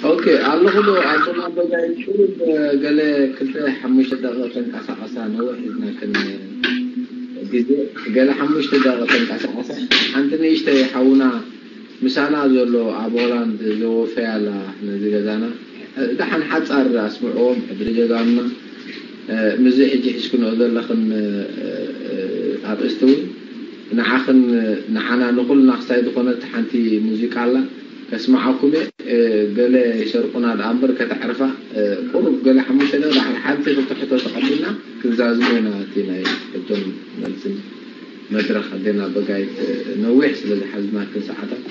ኦኬ፣ ኣለኹ ዶ ኣቦና በጋይ? ቁሩብ ገለ ክልተ ሓሙሽተ ደቂቐ ተንቀሳቐሳ፣ ነዊሕ ሒዝና ከን ግዜ፣ ገለ ሓሙሽተ ደቂቐ ተንቀሳቐሳ። ሓንቲ ንእሽተይ ሓውና ምሳና ዘሎ ኣብ ሆላንድ ዘወፈያ ኣላ ነዚ ገዛና። ደሓን ሓጻር ኣስምዕዎም፣ ሕድሪ ጀጋኑና። ምስዚ ሕጂ ሒዝክንኦ ዘለኽን ኣርእስቲ እውን ንዓኽን ንዓና ንኹልና ክሳይ ዝኾነት ሓንቲ ሙዚቃ ኣላ። ከስምዓኩም እየ። ገለ ይሰርቁና ደኣ እምበር ከተዕርፋ። ቁሩብ ገለ ሓሙሽተ ደቂቕ ሓንቲ ክልተ ሕቶ ተቐቢልና ክንዛዝሞ ኢና። እቲ ናይ ሕቶን መልስን መድረኽ ኣዴና በጋይት ነዊሕ ስለ ዝሓዝናክን ሰዓታት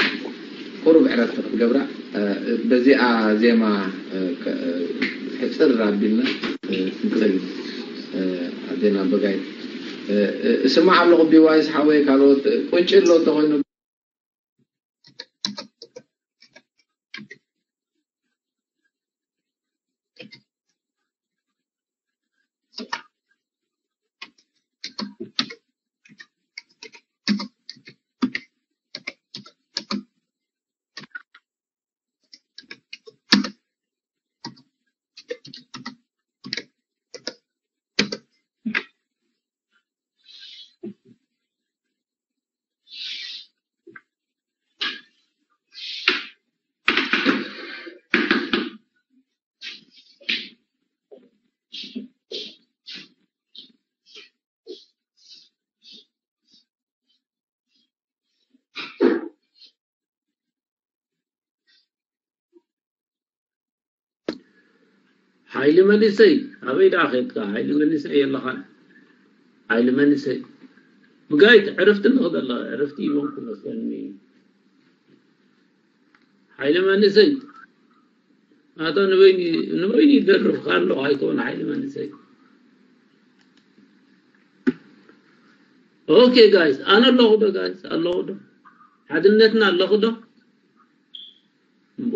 ቁሩብ ዕረፍቲ ክትገብራ በዚኣ ዜማ ሕጽር ኣቢልና ክንጽል ኣዴና በጋይት። እስማዕ ኣለኹ ቢዋይስ ሓወይ፣ ካልኦት ቁንጪ ኣሎ እንተኾይኑ። ሓይሊ መንእሰይ ኣበይ ደኣ ኸድካ? ሓይሊ መንእሰይ የለኻን። ሓይሊ መንእሰይ ብጋይት ዕረፍቲ ንኽደላ ዕረፍቲ ይበንኩ መስለኒ። ሓይሊ መንእሰይ ኣቶ ንበይኒ ንበይኒ ይደርፍካ ኣለኹ ኣይኮን ሓይሊ መንእሰይ። ኦኬ ጋይስ ኣነ ኣለኹ ዶ ጋይስ ኣለኹ ዶ ሓድነትና ኣለኹ ዶ እምቦ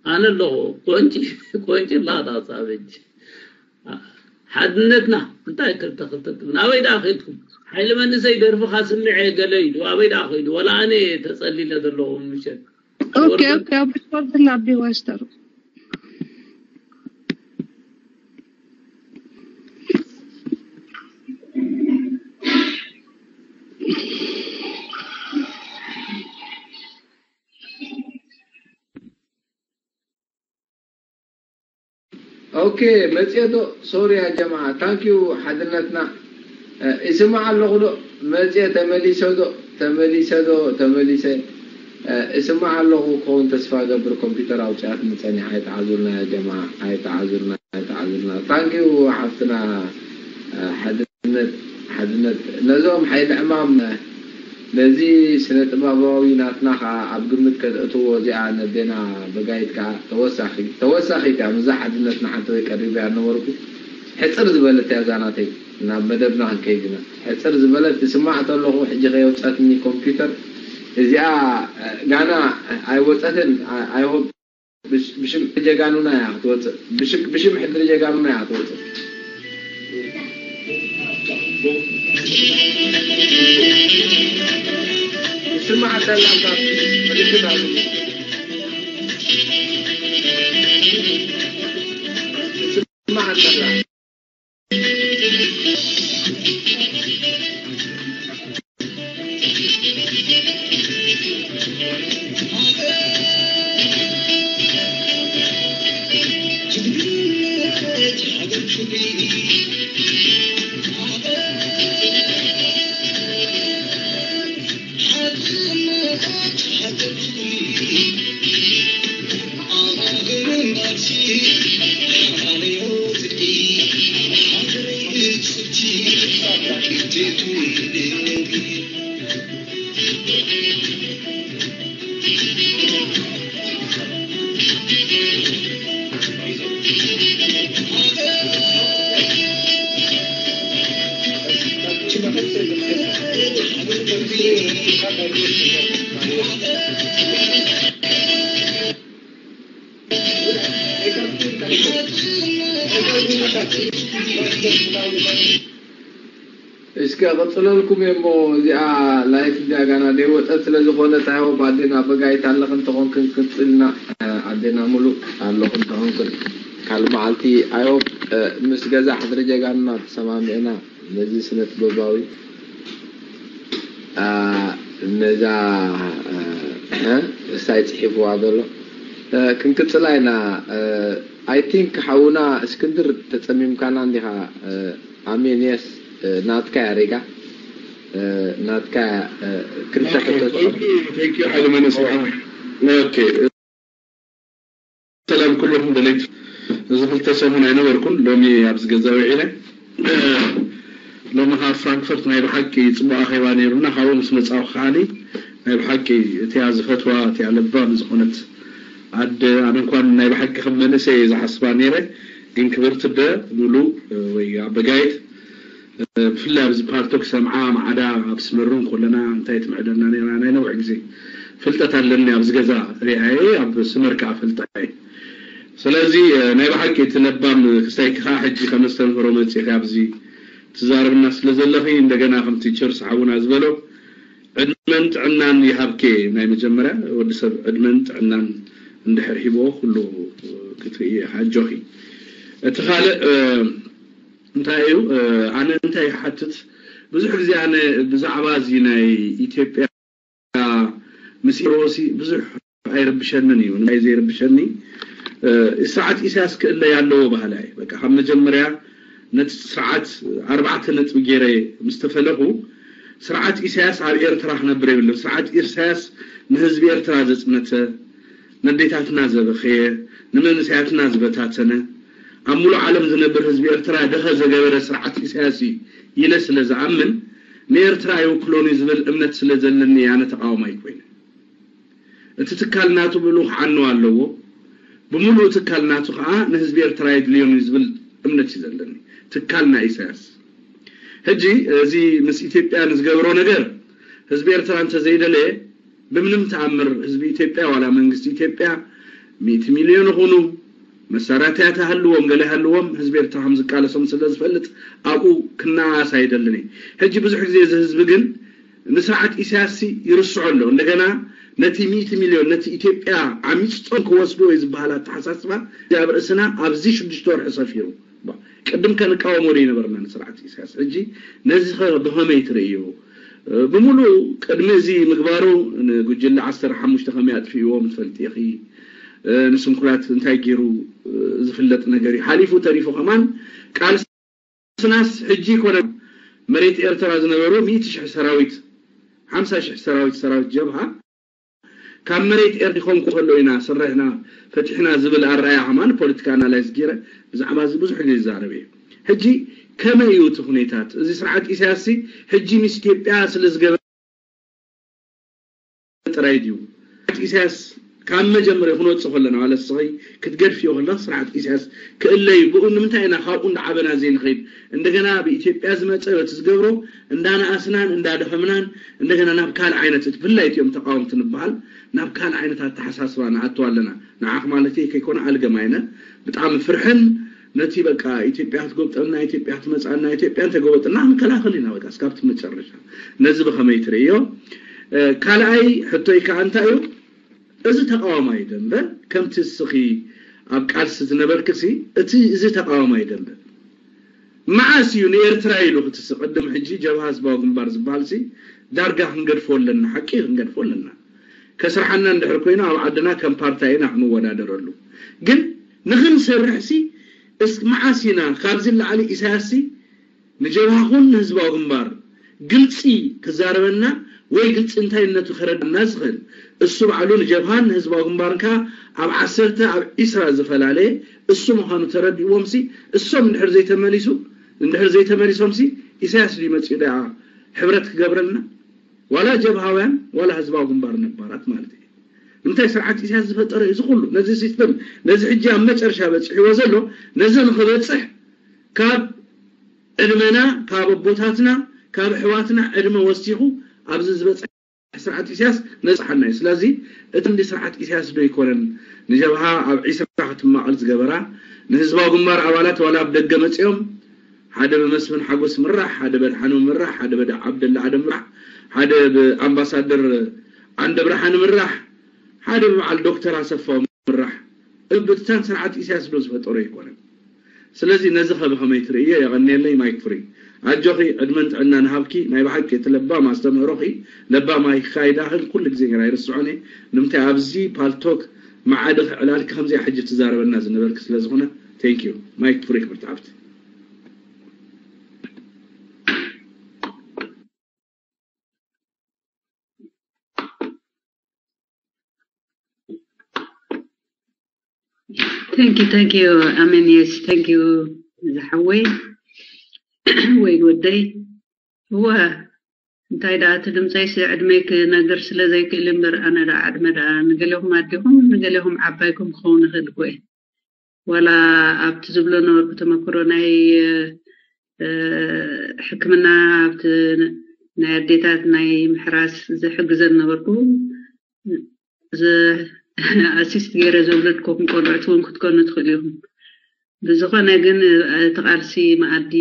ኣነ ኣለኹ። ቆንጪ ቆንጪ ላታ ሳበጅ ሓድነትና እንታይ ክልተ ክልተ ትብል ኣበይ ደኣ ከድኩም? ሓይሊ መንእሰይ ደርፍኻ ስምዐ ገለ ኢሉ ኣበይ ደኣ ከይዱ? ወላ ኣነ ተጸሊለ ዘለኹ ምሸት ኦኬ ኦኬ ኣብ ዲስኮርድ ላቢ ዋስተሩ ኦኬ መጽየ ዶ ሶሪ ያ ጀማዓ ታንኪዩ ሓድነትና ይስማዕ ኣለኹ ዶ መጽየ ተመሊሰ ዶ ተመሊሰ ዶ ተመሊሰ ይስማዕ ኣለኹ ክኸውን ተስፋ ገብር ኮምፒተር ኣውጽኣትኒ ጸኒሓ ኣይተዓዙልና ያ ጀማዓ ኣይተዓዙልና ኣይተዓዙልና ታንኪዩ ሓፍትና ሓድነት ሓድነት ነዞም ሓይሊ ዕማም ነዚ ስነ ጥበባዊ ናትና ከኣ ኣብ ግምት ከተእትዎ እዚኣ ነዴና በጋይት ከኣ ተወሳኺ ተወሳኺት እያ ምስዛ ሓድነትና ሓንቲ ወይ ቀሪበያ ነበርኩ ሕጽር ዝበለት እያ እዛ ናተይ ናብ መደብና ክንከይድ ኢና ሕጽር ዝበለት ትስማዕ ተለኹ ሕጂ ከየውጸትኒ ኮምፒውተር እዚኣ ጋና ኣይወጸትን ኣይሆብ ብሽም ጀጋኑና እያ ክትወፅእ ብሽም ሕድሪ ጀጋኑና እያ ክትወፅእ ስማዕ ሰላም ምልክት ኣሉ ስማዕ ሰላም እስከ ቀጽለልኩም እየ እሞ እዚኣ ላይፍ እዚኣ ጋና ደይወጸት ስለ ዝኾነት፣ I hope ኣዴና በጋይት ኣለኽን ተኾንክን ክንጽልና፣ ኣዴና ሙሉ ኣለኹን ተኾንክን። ካልእ መዓልቲ I hope ምስ ገዛ ሕድሪ ጀጋኑና ተሰማሚዕና ነዚ ስነ ጥበባዊ ነዛ እሳይ ጽሒፍዋ ዘሎ ክንቅጽላ ኢና። I think ሓውና እስክንድር ተጸሚምካና እንዲኻ? ኣሜን። የስ፣ ናትካ ያሬጋ፣ ናትካ። ክልተ ሕቶ ጽሑፍ። ሰላም ኩልኹም ደለይቲ። እዚ ክልተ ሰሙን ኣይነበርኩን፣ ሎሚ ኣብዚ ገዛ ውዒለ። ሎሚ ካብ ፍራንክፈርት ናይ ብሓቂ ጽቡቕ ኣኼባ ነይሩና። ካብኡ ምስ መጻኹ ከዓኒ ናይ ብሓቂ እቲያ ዝፈትዋ እቲያ ለባም ዝኾነት ኣደ፣ ኣነ እንኳን ናይ ብሓቂ ከም መንእሰይ እየ ዝሓስባ ነይረ፣ ግን ክብርቲ ኣደ ሙሉ ወይ ኣበጋይት ብፍላይ ኣብዚ ፓልቶክ ሰምዓ ማዕዳ ኣብ ስመሩን ከለና እንታይ ትምዕደና ነይራ ናይ ነዊሕ ግዜ ፍልጠት ኣለኒ። ኣብዚ ገዛ ሪኣየ ኣብ ስመር ከዓ ፈልጣየ። ስለዚ ናይ ብሓቂ እቲ ለባም ክስታይ ከዓ ሕጂ ከመስተምህሮ መፅእኺ ኣብዚ ትዛረብና ስለ ዘለኺ እንደገና ከምቲ ቸርስ ሓውና ዝበሎ ዕድመን ጥዕናን ይሃብኬ። ናይ መጀመርያ ወዲ ሰብ ዕድመን ጥዕናን እንድሕር ሂቦ ኩሉ ክትርኢ ኣጆኺ። እቲ ካልእ እንታይ እዩ? ኣነ እንታይ ይሓትት፣ ብዙሕ ግዜ ኣነ ብዛዕባ እዚ ናይ ኢትዮጵያ ምስ ኢሮሲ ብዙሕ ኣይርብሸንን እዩ። ናይ ዘይርብሸኒ ስርዓት ኢሳያስ ክእለይ ኣለዎ ባህላ እዩ። በቃ ካብ መጀመርያ ነቲ ስርዓት ኣርባዕተ ነጥቢ ገይረ ምስ ተፈለኹ፣ ስርዓት ኢሳያስ ኣብ ኤርትራ ክነብር የብሉን። ስርዓት ኢሳያስ ንህዝቢ ኤርትራ ዘጽነተ፣ ነዴታትና ዘበኸየ፣ ንመንእሰያትና ዝበታተነ፣ ኣብ ሙሉእ ዓለም ዝነብር ህዝቢ ኤርትራ ደኸ ዘገበረ ስርዓት ኢሳያስ እዩ ኢለ ስለ ዝኣምን፣ ንኤርትራ ኣይውክሎን እዩ ዝብል እምነት ስለ ዘለኒ እየ ኣነ ተቓዋማይ ኮይነ። እቲ ትካል ናቱ ብልኡ ክዓኑ ኣለዎ፣ ብምሉኡ ትካል ናቱ ከዓ ንህዝቢ ኤርትራ የድልዮን እዩ ዝብል እምነት እዩ ዘለኒ። ትካል ናይ ኢሳያስ ሕጂ እዚ ምስ ኢትዮጵያ ንዝገብሮ ነገር ህዝቢ ኤርትራ እንተዘይደለየ ብምንም ተኣምር ህዝቢ ኢትዮጵያ ዋላ መንግስቲ ኢትዮጵያ ሚእቲ ሚልዮን ይኹኑ መሳርያታት ሃልዎም ገለ ሃልዎም ህዝቢ ኤርትራ ከም ዝቃለሶም ስለ ዝፈልጥ ኣብኡ ክነኣኣስ ኣይደልን እየ። ሕጂ ብዙሕ ግዜ እዚ ህዝቢ ግን ንስርዓት ኢሳያስ ይርስዖ ኣሎ። እንደገና ነቲ ሚእቲ ሚልዮን ነቲ ኢትዮጵያ ዓሚጾም ክወስድዎ እዩ ዝበሃል ኣተሓሳስባ ኣብ ርእስና ኣብዚ ሽዱሽተ ወርሒ ሰፊሩ። ቅድም ከንቃወሞ ዶ ይነበርና ንስርዓት ኢሳያስ? ሕጂ ነዚ ኸ ብኸመይ ትርእዮ? ብምሉእ ቅድሚ እዚ ምግባሩ ንጉጅለ ዓሰርተ ሓሙሽተ ከመይ ኣጥፊእዎም ትፈልጢ ኢኺ። ንስንኩላት እንታይ ገይሩ ዝፍለጥ ነገር እዩ። ሓሊፉ ተሪፉ ከማን ቃልስናስ ሕጂ ይኮነ መሬት ኤርትራ ዝነበሩ ሚእቲ ሽሕ ሰራዊት ሓምሳ ሽሕ ሰራዊት ሰራዊት ጀብሃ ካብ መሬት ኤርትራ ሊኾም ከሎ ኢና ስርሕና ፈቲሕና ዝብል ኣረኣያ ከማን ፖለቲካ ኣናላይዝ ገይረ ብዛዕባ እዚ ብዙሕ ግዜ ይዛረብ እየ። ሕጂ ከመይ እዩ እቲ ኩነታት? እዚ ስርዓት ኢሳያስ ሕጂ ምስ ኢትዮጵያ ስለ ዝገበረ ጥራይ ድዩ? ስርዓት ኢሳያስ ካብ መጀመርያ ክንወፅእ ከለና ማለት ስኸይ ክትገድፍዮ ከለና ስርዓት ኢሳያስ ክእለዩ ብኡ ንምንታይ ኢና ካብኡ እንዳዓበና ዘይንኸይድ? እንደገና ብኢትዮጵያ ዝመፀ በቲ ዝገብሮ እንዳነኣስናን እንዳደኸምናን እንደገና ናብ ካልእ ዓይነት እቲ ብፍላይ እቲኦም ተቃወምቲ ንበሃል ናብ ካልእ ዓይነት ኣተሓሳስባ ንኣቱ ኣለና። ንዓኽ ማለት ከይኮነ ኣልገም ኣይነ ብጣዕሚ ፍርሕን ነቲ በቃ ኢትዮጵያ ክትጎብጠልና ኢትዮጵያ ክትመፃና ኢትዮጵያ እንተጎበጥና ክንከላኸል ኢና በቃ እስካብቲ መጨረሻ። ነዚ ብኸመይ ትርእዮ? ካልኣይ ሕቶይ ከዓ እንታይ እዩ? እዚ ተቃዋማይ ደንበ ከምቲ እስኺ ኣብ ቃልሲ ዝነበርክሲ እቲ እዚ ተቃዋማይ ደንበ መዓስ እዩ ንኤርትራ ኢሉ ክትስ ቅድም ሕጂ ጀብሃ ህዝባዊ ግንባር ዝበሃል ሲ ዳርጋ ክንገድፎ ኣለና ሓቂ ክንገድፎ ኣለና ከስርሓና እንድሕር ኮይኑ ኣብ ዓድና ከም ፓርታይ ኢና ክንወዳደረሉ ግን ንክንሰርሕ ሲ እስ መዓስ ኢና ካብዚ ላዕሊ ኢሳያስ ሲ ንጀብሃ ኹን ንህዝባዊ ግንባር ግልፂ ክዛረበና ወይ ግልፂ እንታይነቱ ከረድና ዝኽእል እሱ ባዕሉ ንጀብሃን ንህዝባዊ ግንባርን ከዓ ኣብ ዓሰርተ ኣብ ዒስራ ዝፈላለየ እሱ ምዃኑ ተረዲእዎም ሲ እሶም እንድሕር ዘይተመሊሱ እንድሕር ዘይተመሊሶም ሲ ኢሳያስ ድዩ መፂኡ ደኣ ሕብረት ክገብረልና ዋላ ጀብሃውያን ዋላ ህዝባዊ ግንባር ነባራት ማለት እዩ ንምንታይ ስርዓት ኢሳያስ ዝፈጠረ እዩ ዝኩሉ ነዚ ሲስተም ነዚ ሕጂ ኣብ መጨረሻ በፂሕዎ ዘሎ ነዚ ንክበፅሕ ካብ ዕድመና ካብ ኣቦታትና ካብ ኣሕዋትና ዕድመ ወሲኹ ኣብዚ ዝበፅሐ ስርዓት ኢሳያስ ነፅሓና እዩ። ስለዚ እቲ እንዲ ስርዓት ኢሳያስ ዶ ይኮነን ንጀብሃ ኣብ ዒስራ ክትማቐል ዝገበራ ንህዝባዊ ግንባር ኣባላት ዋላ ኣብ ደገ መፅኦም ሓደ ብመስፍን ሓጎስ ምራሕ፣ ሓደ በድሓኖ ምራሕ፣ ሓደ በደ ዓብደላ ኣደም ምራሕ፣ ሓደ ብኣምባሳደር ዓንደ ብርሃን ምራሕ፣ ሓደ ብበዓል ዶክተር ኣሰፋው ምራሕ። እብትታን ስርዓት ኢሳያስ ዶ ዝፈጠሮ ኣይኮነን። ስለዚ ነዚ ከ ብኸመይ ትርእዮ? የቐንየለይ። ማይክ ፍሪ። ኣጆኺ፣ ዕድመን ጥዕናን ሃብኪ። ናይ ብሓቂ እቲ ለባም ኣስተምህሮኺ፣ ለባም ኣካይዳኽን ኩሉ ግዜ ግን ኣይርስዖን እየ። ንምንታይ ኣብዚ ፓልቶክ መዓድኺ ዕላልኪ ከምዚኣ ሕጂ ትዛረበና ዝነበርኪ ስለ ዝኾነ። Thank you። ማይክ ፍሪ ክብርቲ ሓፍቲ። Thank you, thank you. ኣሜን። Yes, thank you ዝሓወይ ወይ ወደይ። እወ፣ እንታይ ደኣ እቲ ድምፀይስ ዕድመይ ክነግር ስለ ዘይክእል እምበር፣ ኣነ ደኣ ዕድመ ደኣ ንገሌኹም ኣዴኹም ንገሌኹም ዓባይኩም ክኸውን ይኽእል እኮ እየ። ዋላ ኣብቲ ዝብሎ ነበርኩ ተመክሮ ናይ እ፣ ሕክምና ኣብቲ ናይ ኣዴታት ናይ ምሕራስ ዝሕግዘን ነበርኩ። ኣሲስት ገይረ ዝወለድኩም ቆልዑት እውን ክትኮኑ ትኽእሉ ኢኹም። ብዝኾነ ግን እቲ ቃልሲ መኣዲ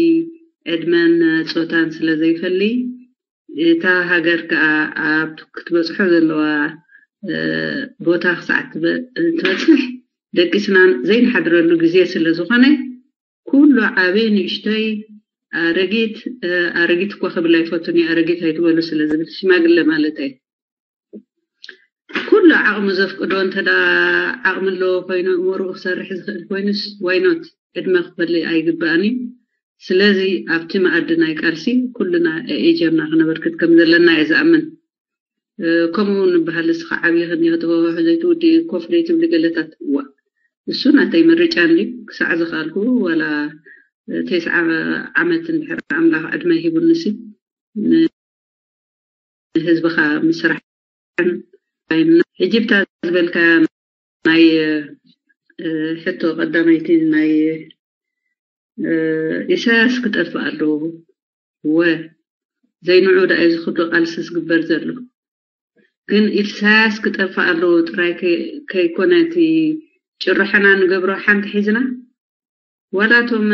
ዕድመን ፆታን ስለ ዘይፈሊ እታ ሃገር ከዓ ኣብ ክትበፅሖ ዘለዋ እ፣ ቦታ ክሳዕ ትበ- ትበፅሕ ደቂስና ዘይንሓድረሉ ግዜ ስለ ዝኾነ ኩሉ ዓቢ ንእሽተይ ኣረጊት እ፣ ኣረጊት እኳ ክብል ኣይፈቱን እዩ ኣረጊት ኣይትበሉ ስለ ዝብል ሽማግለ ማለት እየ። ኩሉ ዓቕሙ ዘፍቅዶ እንተ ደኣ ዓቕሚ ኣለዎ ኮይኑ እምርኡ ክሰርሕ ዝኽእል ኮይኑስ ዋይኖት ዕድመ ክፈሊ ኣይግባእን እዩ። ስለዚ ኣብቲ መኣዲ ናይ ቃልሲ ኩልና ኤጀምና ክነበርክት ከም ዘለና እየ ዝኣምን። ከምኡ ንበሃል እስኻ ዓብዪ ክንዮ ተወዋሑ ዘይትውዲ ኮፍ ዘይትብሊ ገለታት እዋ እሱ ናተይ ምርጫ እንዲ ክሳዕ ዝኽኣልኩ ዋላ ተስዓ ዓመት እንድሕር ኣምላኽ ዕድመ ሂቡንሲ ንህዝብኻ ምስራሕን ሕጂ ብታ ዝበልካ ናይ ሕቶ ቀዳመይቲ ናይ ኢሳያስ ክጠፍእ ኣለዎ ወ ዘይንዑ ደኣ እዚ ክብሪ ቃልሲ ዝግበር ዘሎ ግን ኢሳያስ ክጠፍእ ኣለዎ ጥራይ ከይኮነ እቲ ጭርሖና ንገብሮ ሓንቲ ሒዝና ዋላ እቶም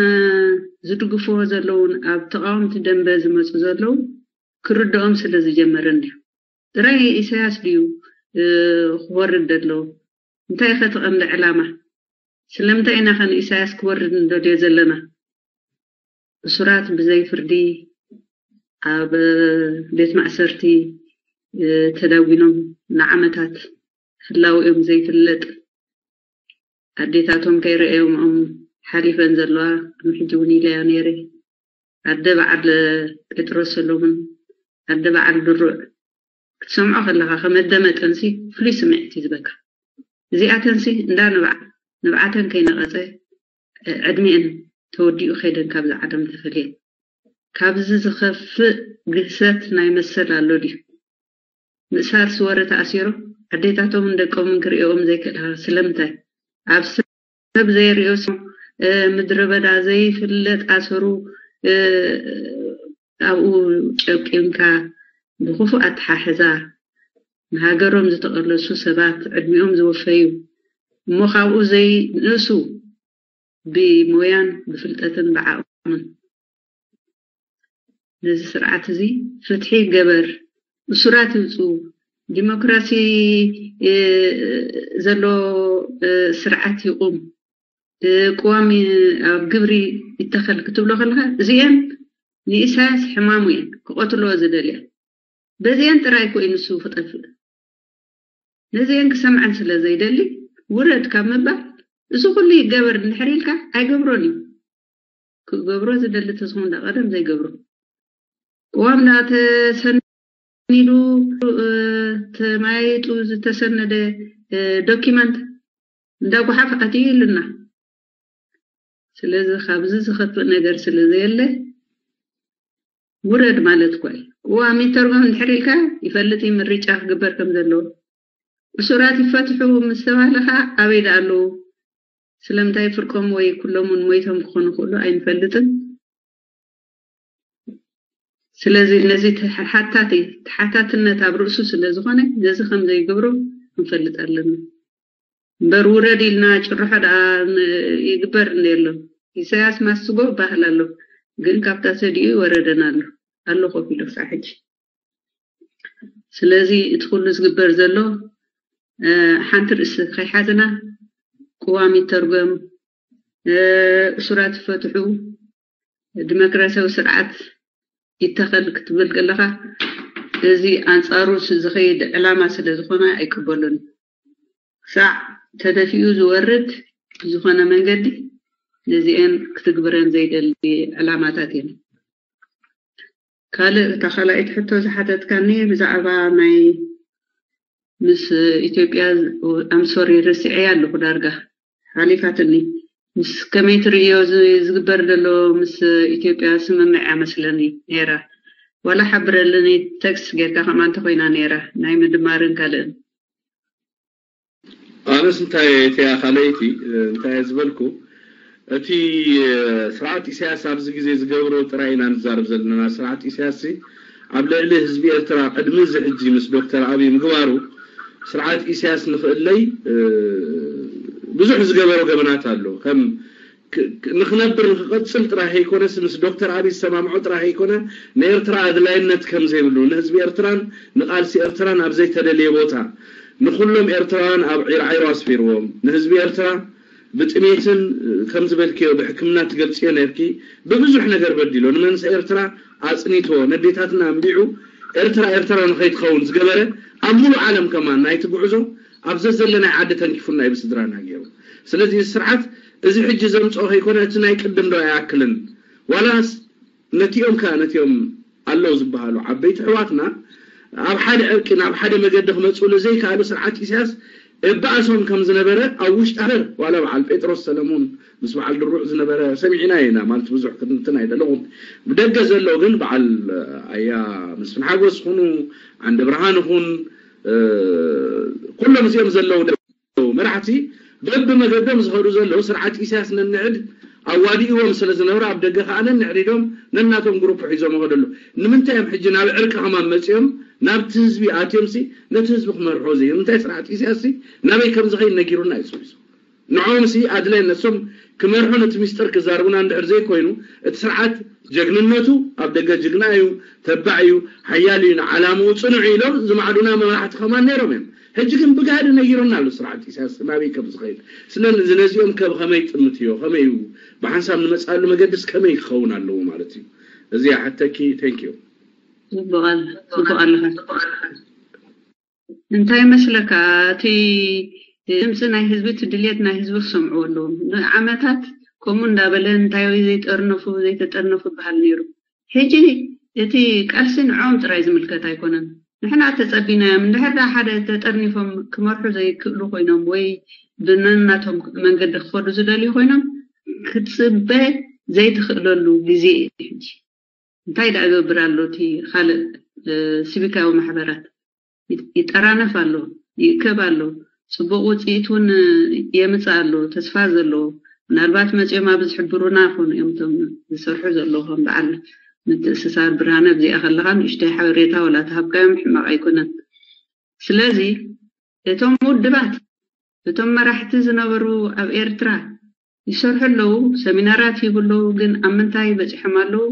ዝድግፍዎ ዘለውን ኣብ ተቃወምቲ ደንበ ዝመፁ ዘለዉ ክርድኦም ስለ ዝጀመረ እንድዩ ጥራይ ኢሳያስ ድዩ ክወርድ ደሎ እንታይ ከ ትቐንዲ ዕላማ ስለምንታይ ኢና ከ ንኢሳያስ ክወርድ ንደልዮ ዘለና እሱራት ብዘይ ፍርዲ ኣብ ቤት ማእሰርቲ ተዳጒኖም ንዓመታት ህላውኦም ዘይፍለጥ ኣዴታቶም ከይረኣዮምኦም ሓሊፈን ዘለዋ ከም ሕጂ እውን ኢለዮ ነይረ ኣደ በዓል ጴጥሮስ ሰሎሙን ኣደ በዓል ድሩዕ ክትሰምዖ ከለኻ ከመደመጠንሲ ፍሉይ ስምዒት እዩ ዝበካ እዚኣተንሲ እንዳ ንብዓ ንብዓተን ከይነቐፀ ዕድሚኤን ተወዲኡ ከይደን ካብዚ ዓለም ተፈልየን ካብዚ ዝኸፍእ ግህሰት ናይ መሰል ኣሎ ድዩ ምእሳር ስወረ ተኣሲሮም ኣዴታቶምን ደቆምን ክርእዮኦም ዘይክእልኻ ስለምንታይ ኣብ ሰብ ዘይርእዮ ምድረ በዳ ዘይፍለጥ ኣሰሩ ኣብኡ ጨቂንካ ብክፉእ ኣተሓሕዛ ንሃገሮም ዝተቐለሱ ሰባት ዕድሚኦም ዝወፈዩ እሞ ካብኡ ዘይንእሱ ብሞያን ብፍልጠትን ብዓቕምን ነዚ ስርዓት እዚ ፍትሒ ገበር እሱራት ይውፁ ዲሞክራሲ ዘሎ ስርዓት ይቁም ቅዋም ኣብ ግብሪ ይተኸል ክትብሎ ከለካ እዚአን ንኢሳያስ ሕማሙ እየን ክቐትልዎ ዝደልያ በዚአን ጥራይ እኮ እዩ ንሱ ክጠፍእ ነዚአን ክሰምዐን ስለ ዘይደሊ ውረድ ካብ ምባል እዚ ኩሉ ይገበር እንድሕር ኢልካ ኣይገብሮን እዩ ክገብሮ ዝደሊ ተዝኾን ዳ ቀደም ዘይገብሮ ቅዋም ዳ ተሰኒዱ ተማያይጡ ዝተሰነደ ዶኪመንት እንዳ ጓሓፍ ኣትዩ ኢሉና ስለዚ ካብዚ ዝኸፍእ ነገር ስለ ዘየለ ውረድ ማለት እኳ እዩ። ቅዋም ይተርጎም እንድሕር ኢልካ ይፈልጥ እዩ ምርጫ ክግበር ከም ዘለዎ። እሱራት ይፈትሑ ምስ ተባህለ ኸዓ ኣበይ ደኣ ኣለዉ? ስለምንታይ ፍርቆም ወይ ኩሎም እውን ሞይቶም ክኾኑ ይኽእሉ ኣይንፈልጥን። ስለዚ ነዚ ተሓታቲ ተሓታትነት ኣብ ርእሱ ስለ ዝኾነ ነዚ ከም ዘይገብሮ ክንፈልጥ ኣለና። እምበር ውረድ ኢልና ጭርሖ ደኣ ይግበር እንደ ኣሎ ኢሳያስ ማስጎ ይበሃል ኣሎ ግን ካብታ ሰዲኡ ይወረደን ኣሎ ኣሎ ኮፍ ኢሉ ክሳብ ሕጂ። ስለዚ እቲ ኩሉ ዝግበር ዘሎ ሓንቲ ርእሲ ከይሓዝና ቅዋም ይተርጎም፣ እሱራት ይፈትሑ፣ ዲሞክራሲያዊ ስርዓት ይተኸል ክትብል ከለኻ እዚ ኣንፃሩ ዝኸይድ ዕላማ ስለ ዝኾነ ኣይቅበሉን። ክሳዕ ተደፊኡ ዝወርድ ዝኾነ መንገዲ ነዚአን ክትግብረን ዘይደሊ ዕላማታት እየን። ካልእ እታ ካልኣይቲ ሕቶ ዝሓተትካኒ ብዛዕባ ናይ ምስ ኢትዮጵያ ኣምሶሪ ርሲዐያ ኣለኹ ዳርጋ ሓሊፋትኒ። ምስ ከመይ ትርእዮ እዚ ዝግበር ዘሎ ምስ ኢትዮጵያ ስምምዕ እያ መስለኒ ነይራ። ዋላ ሓብረልኒ ቴክስት ጌርካ ከምኣ እንተኮይና ነይራ ናይ ምድማርን ካልእን። ኣነስ እንታይ እቲያ ካልኣይቲ እንታይ ዝበልኩ እቲ ስርዓት ኢሳያስ ኣብዚ ግዜ ዝገብሮ ጥራይ ኢና ንዛረብ ዘለና። ስርዓት ኢሳያስ ኣብ ልዕሊ ህዝቢ ኤርትራ ቅድሚ እዚ ሕጂ ምስ ዶክተር ኣብይ ምግባሩ ስርዓት ኢሳያስ ንኽእለይ ብዙሕ ዝገበሮ ገበናት ኣሎ። ከም ንኽነብር ንኽቐጽል ጥራሕ ኣይኮነስ ምስ ዶክተር ኣብይ ዝሰማምዖ ጥራሕ ኣይኮነ ንኤርትራ ኣድላይነት ከም ዘይብሉ ንህዝቢ ኤርትራን ንቓልሲ ኤርትራን ኣብ ዘይተደልየ ቦታ ንኹሎም ኤርትራውያን ኣብ ዒርዓይሮ ኣስፊርዎም ንህዝቢ ኤርትራ ብጥሜትን ከም ዝበልክዮ ብሕክምና ትገልጽዮ ነርኪ ብብዙሕ ነገር በዲሎ ንመንሰ ኤርትራ ኣጽኒቶ ነዴታትና ኣንቢዑ ኤርትራ ኤርትራ ንኸይትኸውን ዝገበረ ኣብ ሙሉ ዓለም ከማን ናይቲ ጉዕዞ ኣብ ዘዘለናይ ዓዲ ተንኪፉና እዩ ብስድራና ገይሩ። ስለዚ እዚ ስርዓት እዚ ሕጂ ዘምፅኦ ከይኮነ እቲ ናይ ቅድም ዶ ኣይኣክልን ዋላስ ነቲኦም ከ ነቲኦም ኣለዉ ዝበሃሉ ዓበይቲ ኣሕዋትና ኣብ ሓደ ዕርቂ ናብ ሓደ መገዲ ክመፅእሉ ዘይከኣሉ ስርዓት ኢሳያስ እበኣሶም ከም ዝነበረ ኣብ ውሽጢ ሃገር ዋላ በዓል ጴጥሮስ ሰለሙን ምስ በዓል ድሩዕ ዝነበረ ሰሚዕና ኢና ማለት ብዙሕ ክትንትን ኣይደለኹን። ብደገ ዘሎ ግን በዓል ኣያ መስፍን ሓጎስ ይኹኑ ዓንደ ብርሃን ይኹን ኩሎም እዚኦም ዘለዉ መራሕቲ በብመገዶም ዝኸዱ ዘለዉ ስርዓት ኢሳያስ ነንዕድ ኣዋዲእዎም ስለ ዝነበረ ኣብ ደገ ከዓ ነንዕድ ኢሎም ነናቶም ግሩፕ ሒዞም ይኸዱ ኣለዉ። ንምንታይ እዮም ሕጂ ናብ ዕርቂ ከማን መፂኦም ናብቲ ህዝቢ ኣትዮም ሲ ነቲ ህዝቢ ክመርሖ ዘይ እንታይ ስርዓት ኢሳያስ ሲ ናበይ ከም ዝኸይድ ነጊሩና እዩ ፅሒሱ ንዖም ሲ ኣድላይ ነሶም ክመርሑ ነቲ ሚስጥር ክዛርቡና እንድሕር ዘይኮይኑ እቲ ስርዓት ጀግንነቱ ኣብ ደገ ጅግና እዩ ተባዕ እዩ ሓያል እዩ ንዓላምኡ ፅኑዕ ኢሎም ዝማዕዱና መራሕቲ ከማን ነይሮም እዮም ሕጂ ግን ብጋህዲ ነጊሩና ኣሎ ስርዓት ኢሳያስ ናበይ ከም ዝኸይድ ስለዚ ነዚኦም ከብ ከመይ ጥምት እዮ ከመይ እዩ ብሓንሳብ ንመፅኣሉ መገድስ ከመይ ክኸውን ኣለዎ ማለት እዩ እዚኣ ሓተኪ thank you ፅቡቕ ኣለ ፅቡቕ ኣለኻ እንታይ መስለካ እቲ ድምፂ ናይ ህዝቢ እቲ ድልየት ናይ ህዝቢ ክሰምዕዎ ኣለዎም ንዓመታት ከምኡ እንዳበለ እንታይ ዘይጠርነፉ ዘይተጠርነፉ ይበሃል ነይሩ ሕጂ እቲ ቃልሲ ንዕኦም ጥራይ ዝምልከት ኣይኮነን ንሕና ተፀቢናዮም እንድሕር ሓደ ተጠርኒፎም ክመርሑ ዘይክእሉ ኮይኖም ወይ ብነናቶም መንገዲ ክኸዱ ዝደልዩ ኮይኖም ክትፅበ ዘይትኽእለሉ ግዜ እዩ ሕጂ እንታይ ደኣ ገብር ኣሎ እቲ ካልእ ሲቪካዊ ማሕበራት ይጠራነፍ ኣሎ ይእከብ ኣሎ ፅቡቕ ውፅኢት እውን የምፅእ ኣሎ ተስፋ ዘለዎ ምናልባት መፂኦም ኣብ ዝሕብሩና ይኾኑ እዮም እቶም ዝሰርሑ ዘለዉ ከም በዓል ምትእስሳር ብርሃነ ኣብዚኣ ከለኻ ንእሽተይ ሓበሬታ ወላ ተሃብካዮም ሕማቕ ኣይኮነን ስለዚ እቶም ውድባት እቶም መራሕቲ ዝነበሩ ኣብ ኤርትራ ይሰርሑ ኣለዉ፣ ሰሚናራት ይህቡ ኣለዉ፣ ግን ኣብ ምንታይ በጺሖም ኣለዉ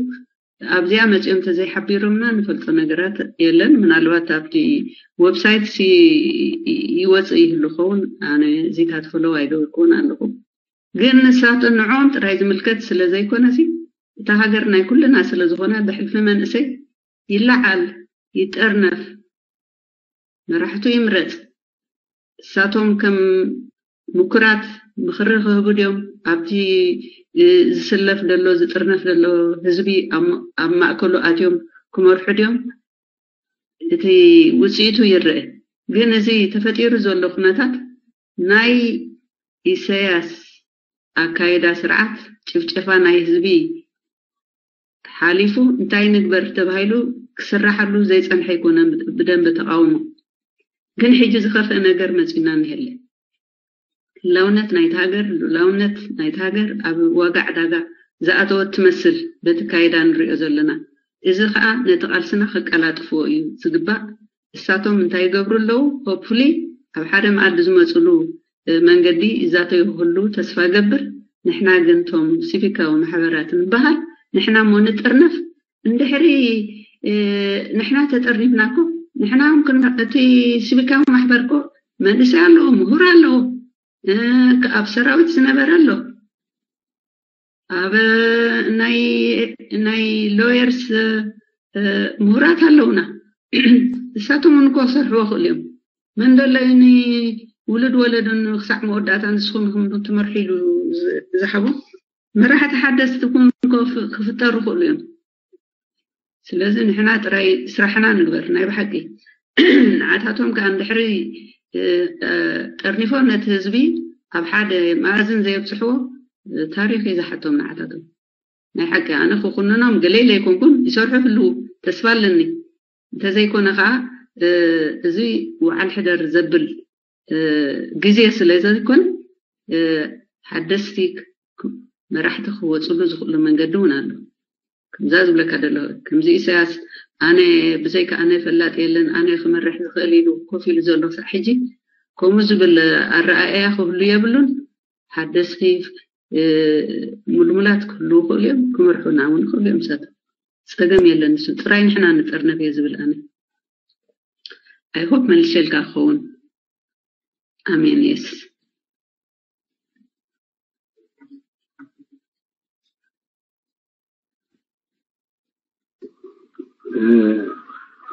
ኣብዚኣ መጺኦም ተዘይሓቢሮምና ንፈልጦ ነገራት የለን። ምናልባት ኣብቲ ዌብሳይት ሲ ይወጽእ ይህሉ ኸውን፣ ኣነ እዚታት ፈለው ኣይገበርኩውን ኣለኹ። ግን ንሳቶም ንዕኦም ጥራይ ዝምልከት ስለ ዘይኮነሲ እታ ሃገር ናይ ኩልና ስለ ዝኾነ ብሕልፊ መንእሰይ ይለዓል፣ ይጠርነፍ፣ መራሕቱ ይምረጽ። እሳቶም ከም ምኩራት ምኽሪ ክህቡ ድዮም? ኣብቲ ዝስለፍ ዘሎ ዝጥርነፍ ዘሎ ህዝቢ ኣብ ማእከሉ ኣትዮም ክመርሑ ድዮም? እቲ ውፅኢቱ ይረአ። ግን እዚ ተፈጢሩ ዘሎ ኩነታት ናይ ኢሰያስ ኣካይዳ ስርዓት ጭፍጨፋ ናይ ህዝቢ ሓሊፉ እንታይ ንግበር ተባሂሉ ክስራሓሉ ዘይፀንሐ ኣይኮነን ብደንቢ ተቃውሞ ግን ሕጂ ዝኸፍአ ነገር መፂና እኒሀለ ህላውነት ናይቲ ሃገር ልኡላውነት ናይቲ ሃገር ኣብ ዋጋ ዕዳጋ ዝኣተወት ትመስል በቲ ካይዳ ንሪኦ ዘለና እዚ ከዓ ነቲ ቃልስና ከቀላጥፍዎ እዩ ዝግባእ እሳቶም እንታይ ይገብሩ ኣለዉ hopefully ኣብ ሓደ መኣዲ ዝመፅሉ መንገዲ ይዛተዩ ክህሉ ተስፋ እገብር ንሕና ግን ቶም ሲቪካዊ ማሕበራት ንበሃል ንሕና እሞ ንጥርነፍ እንድሕሪ ንሕና ተጠርኒፍና እኮ ንሕና እቲ ሲቪካዊ ማሕበር እኮ መንእሰይ ኣለዎ፣ ምሁር ኣለዎ፣ ኣብ ሰራዊት ዝነበረ ኣሎ፣ ኣብ ናይ ናይ ሎየርስ ምሁራት ኣለውና። እሳቶም እውን ክሰርሕዎ ክእሉ እዮም። መን ደሎ ንውሉድ ወለዱን ክሳዕ መወዳእታ ንስኹም ኢኹም ትመርሑ ኢሉ ዝሓቦ መራሕቲ ሓደስቲ እውን ክፍጠሩ ክእሉ እዮም። ስለዚ ንሕና ጥራይ ስራሕና ንግበር ናይ ብሓቂ። ንዓታቶም ከዓ እንድሕሪ ጠርኒፎ ነቲ ህዝቢ ኣብ ሓደ መኣዝን ዘየብፅሕዎ ታሪኽ እዩ ዝሓቶም ንዓታቶም። ናይ ሓቂ ኣነ ክኹንኖም ገለ ኢለ ኣይኮንኩን፣ ይሰርሑ ህልዉ ተስፋ ኣለኒ። እንተዘይኮነ ከዓ እዚ ውዓል ሕደር ዘብል ግዜ ስለ ዘይኮነ ሓደስቲ መራሕቲ ክወፅሉ ዝኽእሉ መንገዲ እውን ኣሎ። ከምዛ ዝብለካ ደሎ ከምዚ ኢሳያስ ኣነ ብዘይካ ኣነ ፈላጥ የለን ኣነ ክመርሕ ዝኽእል ኢሉ ኮፍ ኢሉ ዘሎ ክሳዕ ሕጂ ከምኡ ዝብል ኣረኣእያ ክህሉ የብሉን። ሓደስቲ ምልሙላት ክህልዉ ይኽእሉ እዮም፣ ክመርሑና እውን ይኽእሉ እዮም። ሰብ ፀገም የለን። ንሱ ጥራይ ንሕና ንጠርነፍ እየ ዝብል ኣነ። I hope መልሸልካ ክኸውን። ኣሜን። የስ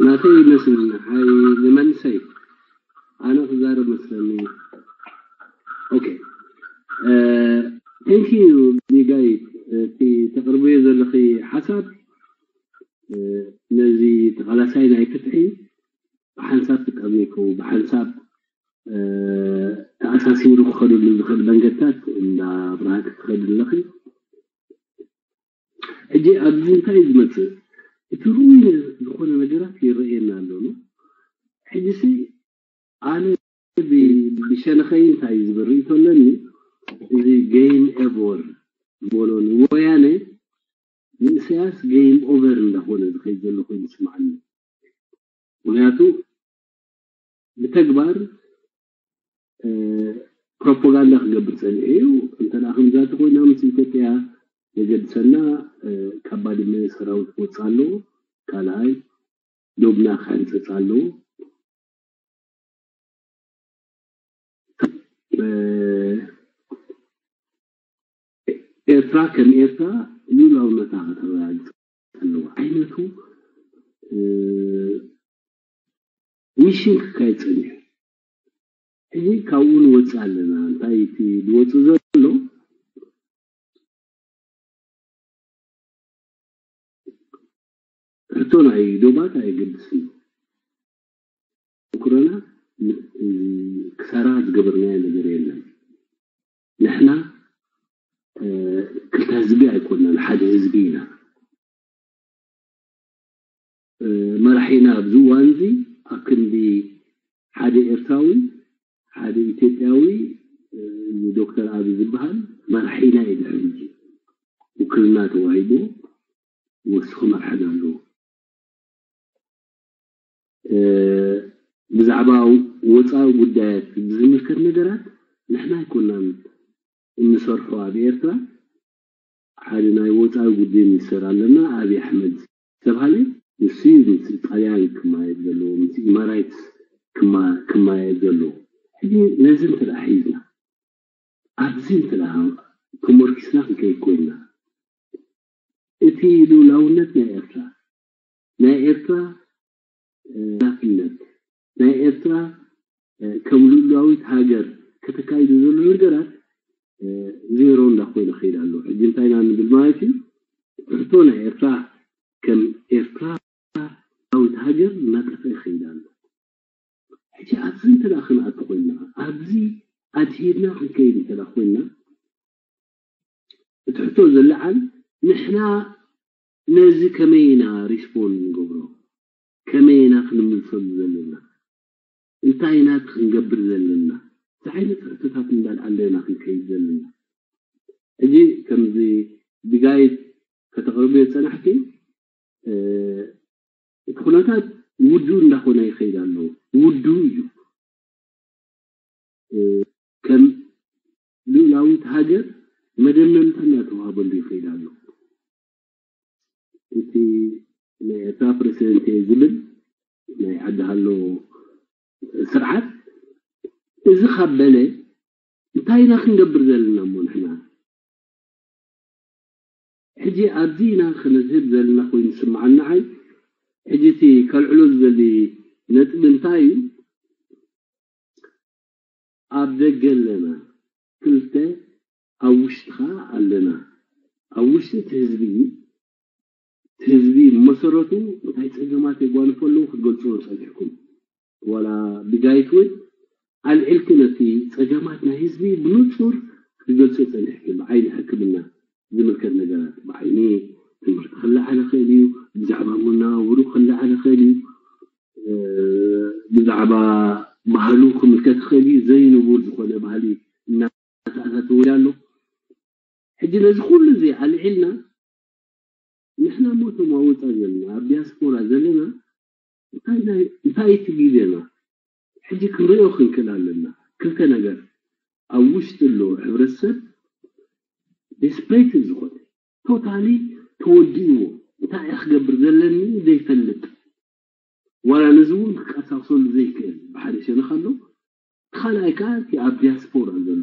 ናተይ ይመስለኒ ሓይ ንመንሰይ ኣነ ክዛረብ መስለኒ። ኦኬ፣ thank you ቢጋይ፣ እቲ ተቕርብዮ ዘለኺ ሓሳብ ነዚ ተቓላሳይ ናይ ፍትሒ ብሓንሳብ ክጠምየኩ ብሓንሳብ ተኣሳሲሩ ክኸደሉ ዝኽእል መንገድታት እንዳ ብርሃ ክትኸዱ ኣለኺ። ሕጂ ኣብዚ እንታይ እዩ ዝመፅእ? እቲ ርኡይ ዝኾነ ነገራት ይረኣየና ኣሎ። ሕጂ ሲ ኣነ ብሸነኸይ እንታይ ዝብል ርእይቶ ኣለኒ፣ እዚ game over ዝበሎ ንወያነ ንእሰያስ game over እንዳኾነ ዝኸይድ ዘሎ ኮይኑ ይስምዓኒ። ምክንያቱ ብተግባር ፕሮፓጋንዳ ክገብር ፀኒሑ እዩ። እንተ ከምዛ ተኮይና ምስ ኢትዮጵያ ዘገድሰና ካብ ባድመ ሰራዊት ክወፅእ ኣለዎ፣ ካልኣይ ዶብና ክሕንፀፅ ኣለዎ። ኤርትራ ከም ኤርትራ ልኡላውነታ ከተረጋግፅ ኣለዋ ዓይነቱ ሚሽን ክካየድ ፀኒሑ። ሕጂ ካብኡ ንወፅእ ኣለና። እንታይ እቲ ዝወፅእ ዘሎ ሕቶ ናይ ዶባት ኣየገድስን እዩ። ኩረና ክሳራ ዝገበርናዮ ነገር የለን። ንሕና ክልተ ህዝቢ ኣይኮናን፣ ሓደ ህዝቢ ኢና። መራሒና ኣብዚ እዋን እዚ ኣብ ክንዲ ሓደ ኤርትራዊ ሓደ ኢትዮጵያዊ ዶክተር ኣብይ ዝበሃል መራሒና እዩ። ድሕሪ ሕጂ ውክልና ተዋሂቡ ወስኹ መርሓና ኣለዎ። ብዛዕባ ወፃኢ ጉዳያት ብዝምልከት ነገራት ንሕና ኣይኮናን እንሰርሖ ኣብ ኤርትራ። ሓደ ናይ ወፃኢ ጉዳይ ሚኒስተር ኣለና ኣብይ ኣሕመድ ዝተባሃለ፣ ንሱ እዩ ምስ ጣልያን ክማየጥ ዘለዎ፣ ምስ ኢማራይትስ ክማየጥ ዘለዎ። ሕጂ ነዚ እንተ ሒዝና ኣብዚ እንተ ተሞርኪስና ክንከይድ ኮይንና እቲ ልኡላውነት ናይ ኤርትራ ናይ ኤርትራ ሓላፍነት ናይ ኤርትራ ከም ልኡላዊት ሃገር ከተካይዶ ዘሎ ነገራት ዜሮ እንዳኮይነ ከይድ ኣሎ። ሕጂ እንታይ ኢና ንብል ማለት እዩ? ሕቶ ናይ ኤርትራ ከም ኤርትራ ልኡላዊት ሃገር እናጠፍአ ይኸይድ ኣሎ። ሕጂ ኣብዚ እንተ ደኣ ክንኣቱ ኮይንና ኣብዚ ኣድሂድና ክንከይድ እንተ ደኣ ኮይንና እቲ ሕቶ ዝለዓል ንሕና ነዚ ከመይ ኢና ሪስፖንድ ንገብሮ? ከመይ ኢና ክንምልሰሉ ዘለና? እንታይ ኢና ክንገብር ዘለና? እዚ ዓይነት ሕቶታት እንዳልዓልና ኢና ክንከይድ ዘለና። ሕጂ ከምዚ ብጋይድ ከተቕርብዮ ዝጸናሕኪ እቲ ኩነታት ውዱእ እንዳኾነ ይኸይድ ኣሎ። ውዱእ እዩ። ከም ልኡላዊት ሃገር መደምደምታ እናተዋህበሉ ይኸይድ ኣሎ። እቲ ናይ ኤርትራ ፕረሲደንት እየ ዝብል ናይ ዓዲ ሃሎ ስርዓት፣ እዚ ካብ በለ እንታይ ኢና ክንገብር ዘለና እሞ ንሕና? ሕጂ ኣብዚ ኢና ክነዝህብ ዘለና ኮይኑ ዝስምዓኒ ንዓይ። ሕጂ እቲ ከልዕሎ ዝደሊ ነጥቢ እንታይ እዩ? ኣብ ደገ ኣለና ክልተ፣ ኣብ ውሽጢ ኸዓ ኣለና። ኣብ ውሽጢ እቲ ህዝቢ፣ እቲ ህዝቢ መሰረቱ እንታይ ጸገማት የጓንፎ ኣለዉ ክትገልጽዎ ጸኒሕኩም። ዋላ ብጋይት እውን ኣልዒልኪ ነቲ ጸገማት ናይ ህዝቢ ብንጹር ክትገልጽዮ ጸኒሕኪ። ብዓይኒ ሕክምና ዝምልከት ነገራት፣ ብዓይኒ ትምህርቲ ክለዓል ይኽእል እዩ፣ ብዛዕባ መነባብሩ ክለዓል ይኽእል እዩ፣ እ፣ ብዛዕባ ባህሉ ክምልከት ይኽእል እዩ። ዘይንቡር ዝኾነ ባህሊ እናተኣታተወ ኣሎ። ሕጂ ነዚ ኩሉ እዚ ኣልዒልና ንሕና እሞ እቶም ኣብ ወጻኢ ዘለና፣ ኣብ ዲያስፖራ ዘለና እንታይ ናይ-፣ እንታይ እቲ ግዜና? ሕጂ ክንሪኦ ክንክእል ኣለና። ክልተ ነገር፣ ኣብ ውሽጢ ኣሎ ሕብረተሰብ ዴስፕሬት ዝኾነ፣ ቶታሊ ተወዲእዎ፣ እንታይ እየ ክገብር ዘለኒ ዘይፈልጥ፣ ዋላ ነዚ እውን ክቀሳቅሰሉ ዘይክእል ብሓደ ሸነኽ ኣሎ። ካልኣይ ከዓ እቲ ኣብ ዲያስፖራ ዘሎ፣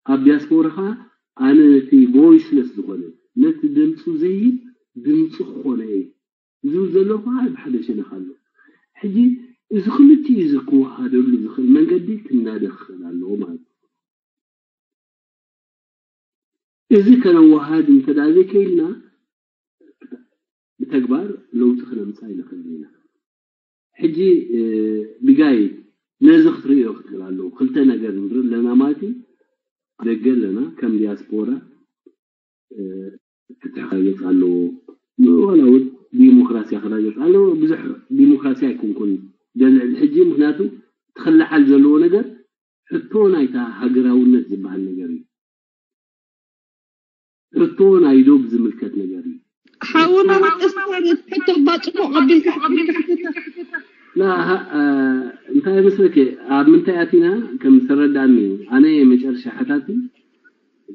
ኣብ ዲያስፖራ ከዓ ኣነ ነቲ ቮይስለስ ዝኾነ፣ ነቲ ድምፁ ዘይህብ ድምፂ ክኾነ እየ ዝብል ዘሎ ከዓ ብሓደ ሸነኽ ኣሎ። ሕጂ እዚ ክልቲኡ እዚ ክወሃደሉ ዝኽእል መንገዲ ክናደ ክኽእል ኣለዎ ማለት እዩ። እዚ ከነወሃድ እንተ ደኣ ዘይከኢልና ብተግባር ለውጢ ክነምጽእ ኣይንኽእልን ኢና። ሕጂ፣ እ፣ ቢጋይ ነዚ ክትርእዮ ክትክእል ኣለዎ። ክልተ ነገር ንርኢ ኣለና ማለት እዩ። ደገ ኣለና ከም ዲያስፖራ፣ እ፣ ፍትሒ ክረጋገጽ ኣለዎ። ዋላ እውን ዲሞክራሲ ክረጋገጽ ኣለዎ። ብዙሕ ዲሞክራሲ ኣይኮንኩን ዘልዕል ሕጂ፣ ምኽንያቱ እቲ ክለዓል ዘለዎ ነገር ሕቶ ናይታ ሃገራውነት ዝበሃል ነገር እዩ። ሕቶ ናይ ዶብ ዝምልከት ነገር እዩ። ሓውና መቀስታን ሕቶ ባጽፎ ኣቢልካ ሕቶ ላ፣ ሃ-፣ እ፣ እንታይ መስለኪ፣ ኣብ ምንታይ ኣቲና ከም ዝተረዳእኒ፣ ኣነ መጨረሻ ሓታቲ።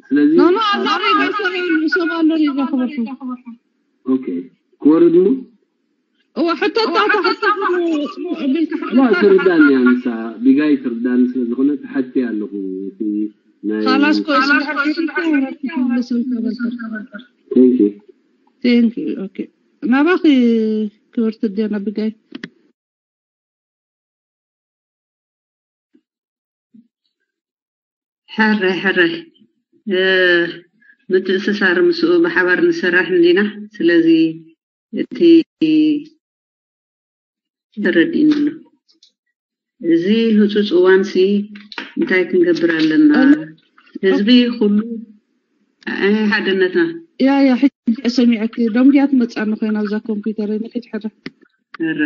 ስለዚ ኖ፣ ኖ፣ ኣብ ኣዛረይ ቤተሰብ ኣሎ፣ ይዛኸበኩም። ኦኬ፣ ክወርድ ሞ? እዋ፣ ሕቶ እታ፣ እታ ሕቶ ኣቢልካ ላ፣ ትርዳእኒ እያ ንሳ፣ ቢጋይ ትርዳእኒ ስለ ዝኾነ ትሓቲ ኣለኹ። እቲ ናይ ካላስ ኮይስ እንድሕር ክትምለስ እንተበልካ። Thank you። Thank you። ኦኬ። ናባኺ ክብርቲ ዲያና ቢጋይ። ሕራይ፣ ሕራይ። እ፣ ምትእስሳር ምስኡ ብሓባር ንሰራሕ እንዲና። ስለዚ እቲ ተረዲእኒ ኣሎ። እዚ ህጹጽ እዋንሲ እንታይ ክንገብር ኣለና? ኣነ ህዝቢ ኩሉ፣ ኣይ፣ ሓድነትና። ያ፣ ያ፣ ሕጂ ሰሚዐኪ። ደንጉያ ትመጽኣኒ ኮይና ኣብዛ ኮምፒውተር፣ ንሕጂ ሕረ። ሕረ።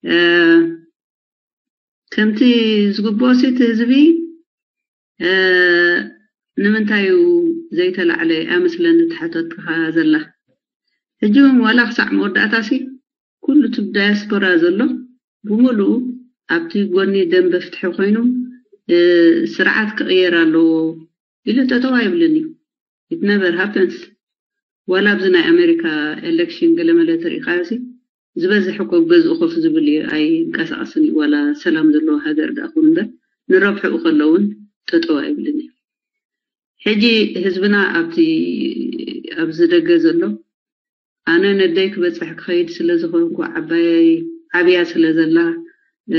እ፣ ከምቲ ዝግብኦሲ እቲ ህዝቢ፣ እ፣ ንምንታይ እዩ ዘይተላዕለ? እያ መስለኒ ትሓተትካ ዘላ። ሕጂ እውን ዋላ ክሳዕ መወዳእታሲ ኩሉ እቲ ዳያስፖራ ዘሎ ብምሉኡ ኣብቲ ጎኒ ደንበ ፍትሒ ኮይኑ፣ እ፣ ስርዓት ክቕየር ኣለዎ ኢሉ ጠጠው ኣይብልን እዩ። It never happens። ዋላ ኣብዚ ናይ ኣሜሪካ ኤሌክሽን ገለመለ ተሪኢኻዮሲ ዝበዝሕ እኮ ገዝኡ ኮፍ ዝብል እዩ፣ ኣይንቀሳቐስን እዩ። ዋላ ሰላም ዘለዎ ሃገር ደኣ ኩን እምበር ንረብሕኡ ከሎ እውን ጠጠው ኣይብልን እዩ። ሕጂ ህዝብና ኣብቲ፣ ኣብዚ ደገ ዘሎ፣ ኣነ ነደይ ክበጽሕ ክኸይድ ስለ ዝኾንኩ፣ ዓባየይ ዓብያ ስለ ዘላ፣ እ፣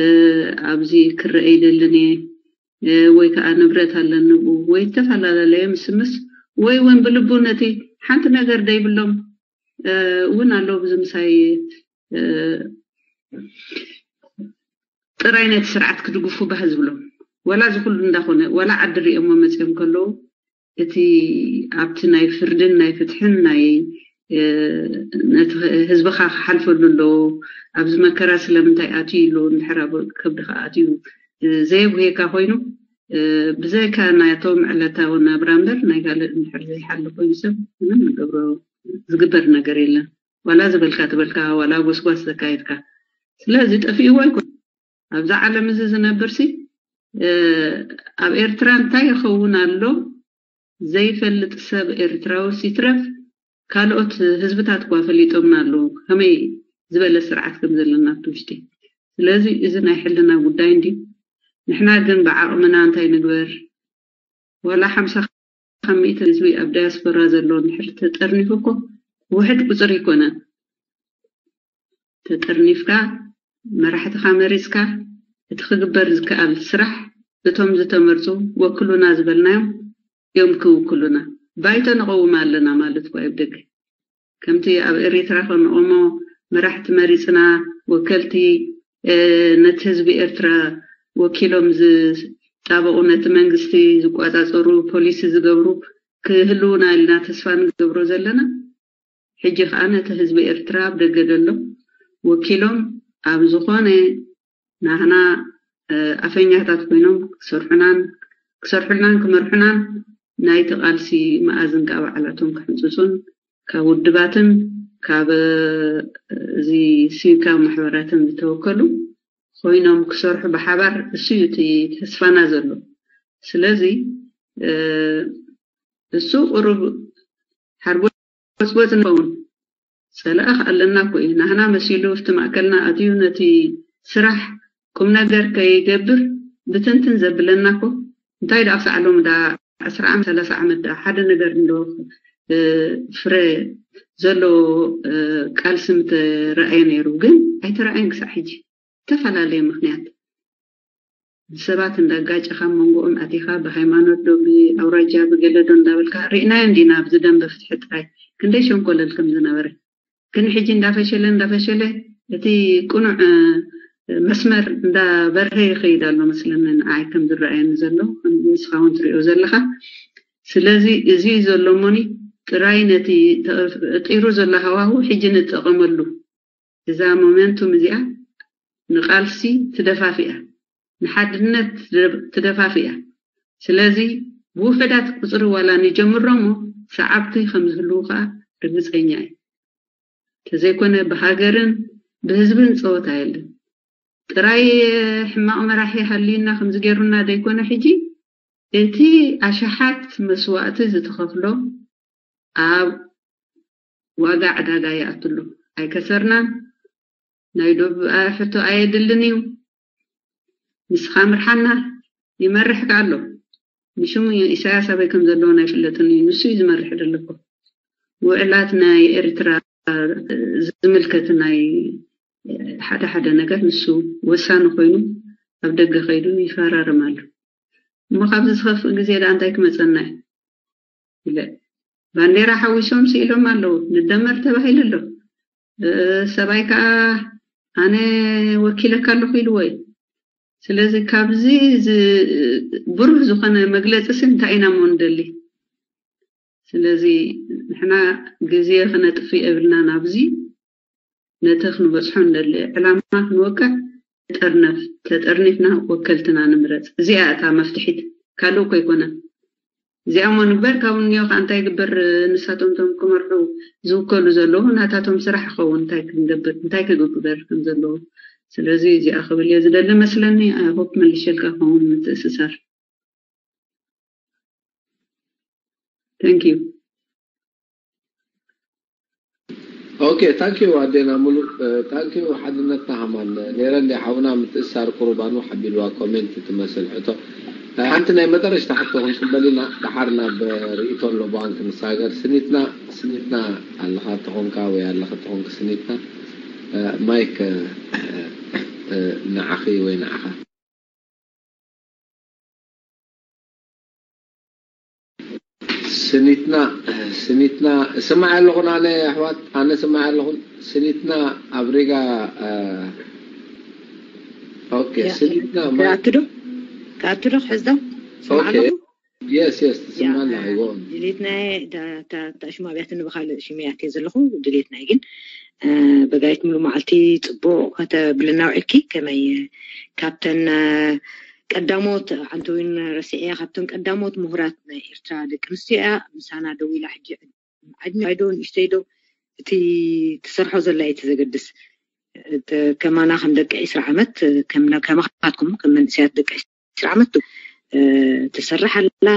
ኣብዚ ክረአ ይደልን እየ፣ እ፣ ወይ ከዓ ንብረት ኣለኒ ብኡ ወይ ዝተፈላለለየ ምስምስ ወይ እውን ብልቡ ነቲ ሓንቲ ነገር ደይብሎም፣ እ፣ እውን ኣለዉ ብዚ ምሳይ፣ እ፣ ጥራይ ነቲ ስርዓት ክድግፉ ባህ ዝብሎም። ዋላ እዚ ኩሉ እንዳኾነ፣ ዋላ ዓዲ ሪኦሞ መጺኦም ከለዉ፣ እቲ ኣብቲ ናይ ፍርድን ናይ ፍትሕን ናይ፣ እ፣ ነቲ ህዝብኻ ክሓልፈሉ ኣለዎ፣ ኣብዚ መከራ ስለምንታይ ኣትዩ ኣሎ፣ እንድሕር ኣብ ከብድኻ ኣትዩ፣ እ፣ ዘየጉህየካ ኮይኑ፣ እ፣ ብዘይካ ናቶም ዕለታዊ ናብራ እምበር ናይ ካልእ እንድሕር ዘይሓሊ ኮይኑ ሰብ ምንም ንገብሮ ዝግበር ነገር የለን። ዋላ ዝበልካ ትበልካ፣ ዋላ ጎስጓስ ዘካየድካ። ስለዚ ጠፊእዎ ኣይኮን። ኣብዛ ዓለም እዚ ዝነብርሲ፣ እ፣ ኣብ ኤርትራ እንታይ ይኸውን ኣሎ ዘይፈልጥ ሰብ ኤርትራዊ ሲትረፍ ካልኦት ህዝብታት እኳ ፈሊጦምና ኣለዉ ከመይ ዝበለ ስርዓት ከም ዘለና ኣብቲ ውሽጢ። ስለዚ እዚ ናይ ሕልና ጉዳይ እንዲ ንሕና ግን ብዓቕምና እንታይ ንግበር? ዋላ ሓምሳ ካብ ሚእቲ ህዝቢ ኣብ ዳያስፖራ ዘሎ እንድሕር ተጠርኒፉ እኮ ውሕድ ቁፅሪ ይኮነን። ተጠርኒፍካ መራሕትኻ መሪፅካ እቲ ክግበር ዝከኣል ስራሕ እቶም ዝተመርፁ ወክሉና ዝበልናዮም እዮም ክውክሉና። ባይቶ ነቐውም ኣለና ማለት እኮ ኣብ ደገ ከምቲ ኣብ ኤሪትራ ከንኦሞ መራሕቲ መሪፅና ወከልቲ ነቲ ህዝቢ ኤርትራ ወኪሎም ዝጣበቑ ነቲ መንግስቲ ዝቋፃፀሩ ፖሊሲ ዝገብሩ ክህልውና ኢልና ተስፋ ንገብሮ ዘለና። ሕጂ ከዓ ነቲ ህዝቢ ኤርትራ ኣብ ደገ ዘሎ ወኪሎም ኣብ ዝኾነ ናህና ኣፈኛታት ኮይኖም ክሰርሑናን ክሰርሑልናን ክመርሑናን ናይቲ ቃልሲ መኣዝን ካብ ባዕላቶም ክሕንፅፁን ካብ ውድባትን ካብ እዚ ሲቪካዊ ማሕበራትን ዝተወከሉ ኮይኖም ክሰርሑ ብሓባር እሱ እዩ እቲ ተስፋና ዘሎ። ስለዚ እሱ ቁሩብ ሓርጎፅጎፅ ንኸውን። ፀላእ ኣለና እኮ እዩ። ናህና መሲሉ ኣብቲ ማእከልና ኣትዩ ነቲ ስራሕ ቁም ነገር ከይገብር ብትንትን ዘብለና እኮ እንታይ ደኣ ክሳዕ ሎሚ ደኣ ዕስራ ዓመት ሰላሳ ዓመት ደኣ ሓደ ነገር እንዶ ፍረ ዘለዎ ቃልሲ ምተረኣየ ነይሩ፣ ግን ኣይተረኣየን ክሳዕ ሕጂ። ዝተፈላለየ ምክንያት ብሰባት እንዳጋጨኻ መንጎኦም ኣቲኻ ብሃይማኖት ዶ ብኣውራጃ ብገለ ዶ እንዳበልካ ርኢናዮ እንዲና ኣብዚ ደንበ ፍትሒ ጥራይ ክንደይ ሸንኮለል ከም ዝነበረ። ግን ሕጂ እንዳፈሸለ እንዳፈሸለ እቲ ቅኑዕ መስመር እንዳበርሀ ይኸይድ ኣሎ መስለኒ ንዓይ ከም ዝረኣየኒ ዘሎ ንስኻ እውን ትሪኦ ዘለኻ። ስለዚ እዚ ዘሎ ሞኒ ጥራይ ነቲ ተፈጢሩ ዘሎ ሃዋሁ ሕጂ ንጠቐመሉ። እዛ ሞመንቱም እዚኣ ንቓልሲ ትደፋፍያ፣ ንሓድነት ትደፋፍያ። ስለዚ ብውሑዳት ቁፅሪ ዋላ ንጀምሮ እሞ ሰዓብቲ ከም ዝህልዉ ከዓ ርግፀኛ እየ። ተዘይኮነ ብሃገርን ብህዝብን ፀወታ የለን። ጥራይ ሕማቕ መራሒ ሃልዩና ከምዚ ገይሩና ዘይኮነ ሕጂ እቲ ኣሽሓት መስዋእቲ ዝተኸፍሎ ኣብ ዋጋ ዕዳጋ ይኣትሉ። ኣይከሰርናን። ናይ ዶብ ሕቶ ኣየድልን እዩ። ንስኻ ምርሓና ይመርሕ ከኣ ኣሎ። ንሽሙ ኢሳያስ ኣበይ ከም ዘለውን ኣይፍለጥን እዩ። ንሱ እዩ ዝመርሕ ዘሎ እኮ። ውዕላት ናይ ኤርትራ ዝምልከት ናይ ሓደ ሓደ ነገር ንሱ ወሳኒ ኮይኑ ኣብ ደገ ከይዱ ይፈራረም ኣሎ። እሞ ካብዚ ዝኸፍእ ግዜ ደኣ እንታይ ክመጸና እዩ? ኢለ ባንዴራ ሓዊሶም ስኢሎም ኣለዉ። ንደመር ተባሂሉ ኣሎ። ሰብኣይ ከዓ ኣነ ወኪለካ ኣለኹ ኢልዎ እዩ። ስለዚ ካብዚ ብሩህ ዝኾነ መግለፂ ሲ እንታይ ኢና ሞ ንደሊ? ስለዚ ንሕና ግዜ ክነጥፍ የብልና ናብዚ ነቲ ክንበፅሖ ንደሊ ዕላማ ክንወቅዕ ንጠርነፍ። ተጠርኒፍና ወከልትና ንምረፅ። እዚኣ እታ መፍትሒት ካልእ እኮ ኣይኮነን። እዚኣ እሞ ንግበር ካብኡ እኒኦ ከዓ እንታይ ይግበር? ንሳቶም እቶም ክመርሑ ዝውከሉ ዘለዉ ናታቶም ስራሕ ይኸውን። እንታይ ክንገብር እንታይ ክግበር ከም ዘለዎ። ስለዚ እዚኣ ክብል እየ ዝደሊ መስለኒ። I hope መልሸልካ ክኸውን ምትእስሳር። Thank you. Okay, thank you ኣዴና ሙሉ። Thank you ሓድነትና ሃማን። ነይረ እንዲ ሓውና ምትእሳር ቁሩብ ኣንውሕ ኣቢልዋ ኮሜንት ትመስል ሕቶ። ሓንቲ ናይ መጠረሽታ ሕቶ ክንቅበል ኢና፣ ደሓር ናብ ርእይቶ ኣሎ ባንክ ንሳገር። ስኒትና ስኒትና ኣለኻ ተኾንካ ወይ ኣለኻ ተኾንክ ስኒትና፣ ማይክ ንዓኺ ወይ ንዓኻ። ስኒትና ስኒትና እሰማዕ ኣለኹን ኣነ ኣሕዋት ኣነ እሰማዕ ኣለኹን። ስኒትና ኣብ ሪጋ ኦኬ ስኒትና ክኣቱ ዶ ክኣቱ ዶ ክሕዝ ዶ ስማዕ ኣለኹ። የስ የስ ትስማና ኣይጎን ድሌትናየ ታሽሙ ኣብያትኒ ብካልእ ሽመያት እየ ዘለኹ። ድሌትናይ ግን በጋይት ሙሉ መዓልቲ ፅቡቅ ከተብልና ውዒልኪ ከመይ ካብተን ቀዳሞት ኣንተ እውን ረሲዐያ ካብተን ቀዳሞት ምሁራት ናይ ኤርትራ ደቂ ኣንስትዮ እያ። ምሳና ደው ኢላ ሕጂ ዓድሚ ዶ ንእሽተይ ዶ እቲ ትሰርሖ ዘላ እቲ ዘገድስ ከማና ከም ደቂ ዕስራ ዓመት ከማኻትኩም ከም መንእሰያት ደቂ ዕስራ ዓመት ትሰርሕ ኣላ።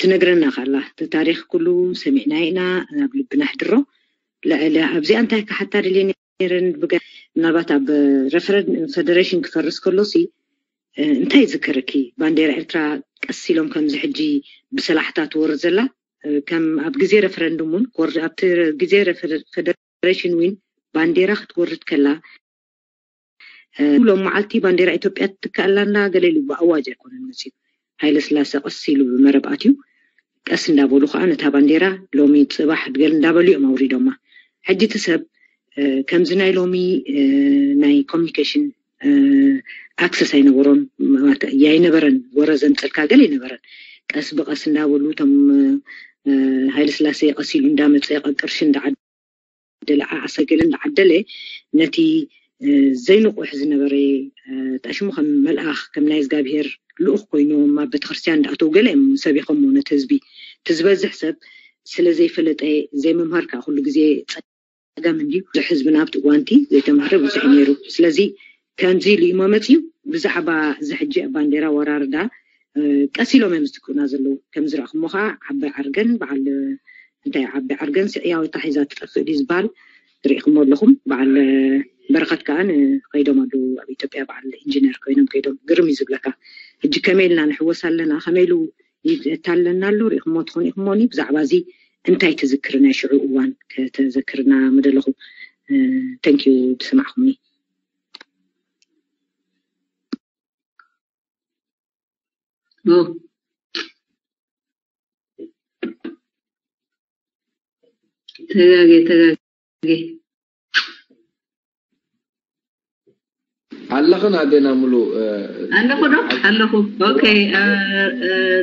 ትነግረና ካላ እቲ ታሪኽ ኩሉ ሰሚዕና ኢና፣ ናብ ልብና ሕድሮ። ልዕሊ ኣብዚኣ እንታይ ክሓታ ደልየ ነይረን ብገ-፣ ምናልባት ኣብ ሬፈረንደም ፌደሬሽን ክፈርስ ከሎ ሲ እንታይ ይዝከረኪ? ባንዴራ ኤርትራ ቀስ ኢሎም ከምዚ ሕጂ ብሰላሕታ ትወርድ ዘላ፣ ከም ኣብ ግዜ ሬፈረንደም እውን ክወርድ፣ ኣብቲ ግዜ ሬፈረ-፣ ፌደሬሽን ዊን ባንዴራ ክትወርድ ከላ፣ ሎም መዓልቲ ባንዴራ ኢትዮጵያ ትትካእ ኣላ እንዳ ገለ ኢሉ ብኣዋጅ ኣይኮነን መፅዩ። ሃይለ ስላሴ ቀስ ኢሉ ብመረብ ኣትዩ፣ ቀስ እንዳበሉ ከዓ ነታ ባንዴራ ሎሚ ፅባሕ ድገል እንዳበሉ እዮም ኣውሪዶማ። ሕጂ እቲ ሰብ ከምዚ ናይ ሎሚ ናይ ኮሚኒኬሽን ኣክሰስ ኣይነበሮን፣ ኣይነበረን፣ ወረ ዘምፀልካ ገለ ኣይነበረን። ቀስ ብቀስ እንዳበሉ እቶም ሃይለ ስላሴ ቀስ ኢሉ እንዳመፀ ቅርሺ እንዳዓደለ ዓሰገለ እንዳዓደለ ነቲ ዘይንቑሕ ዝነበረ ጠሽሙ ከም መልኣኽ ከም ናይ እግዚኣብሄር ልኡኽ ኮይኖም ኣብ ቤተክርስትያን እንዳኣተው ገለ እዮም ሰቢኾሞ ነቲ ህዝቢ። እቲ ዝበዝሕ ሰብ ስለ ዘይፈለጠ ዘይምምሃር ከዓ ኩሉ ግዜ ፀገም እንድዩ። ብዙሕ ህዝብና ኣብቲ እዋንቲ ዘይተምሃረ ብዙሕ እዩ ነይሩ። ስለዚ ከምዚ ኢሉ እዩ መመፅኡ። ብዛዕባ እዚ ሕጂ ኣብ ባንዴራ ወራርዳ ቀስ ኢሎም እዮም ዝትክኡና ዘለዉ። ከም ዝረእኹሞ ከዓ ዓባይ ዓርገን በዓል እንታይ ዓባይ ዓርገን ስዕያዊታ ሒዛ ትጠፍእ ድዩ ዝበሃል ርኢኹሞ ኣለኹም። በዓል በረኸት ከዓ ከይዶም ኣለዉ ኣብ ኢትዮጵያ በዓል ኢንጂነር ኮይኖም ከይዶም። ግርም እዩ ዝብለካ። ሕጂ ከመይ ኢልና ንሕወስ ኣለና? ከመይ ኢሉ ይታለና ኣሎ? ርኢኹሞ ትኾኑ ኢኹሞኒ። ብዛዕባ እዚ እንታይ ትዝክሪ ናይ ሽዑ እዋን ከተዘክርና ምደለኹ። ተንኪዩ ዝሰማዕኹምኒ። ተጋጌ ተጋጌ ኣለኽን ኣዴና ሙሉ ኣለኹ ዶ ኣለኹ። ኦኬ።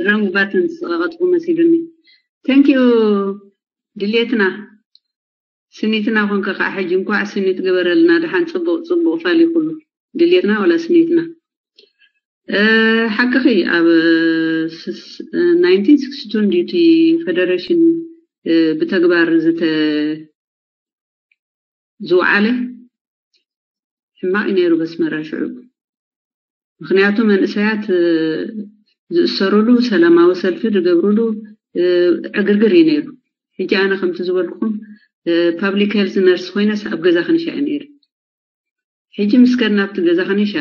ረንጉ ባትን ዝሰቐጥኩ መሲሉኒ። ተንኪዩ ድልየትና ስኒትና ኮንከ ከዓ ሕጂ እንኳዕ ስኒት ገበረልና። ደሓን ፅቡቅ ፅቡቅ ፋል ይኩሉ ድልየትና ወላ ስኒትና። ሓቅኺ ኣብ ናይንቲን ስክስቲ ቱ ዲቲ ፌደሬሽን ብተግባር ዝተ ዝወዓለ ሕማቕ እዩ ነይሩ በስመራ ሽዑ። ምክንያቱ መንእሰያት ዝእሰሩሉ፣ ሰላማዊ ሰልፊ ዝገብሩሉ ዕግርግር እዩ ነይሩ። ሕጂ ኣነ ከምቲ ዝበልኩኹም ፓብሊክ ሄልዝ ነርስ ኮይነስ ኣብ ገዛ ከኒሻ እየ ነይሩ። ሕጂ ምስ ከድና ኣብቲ ገዛ ከኒሻ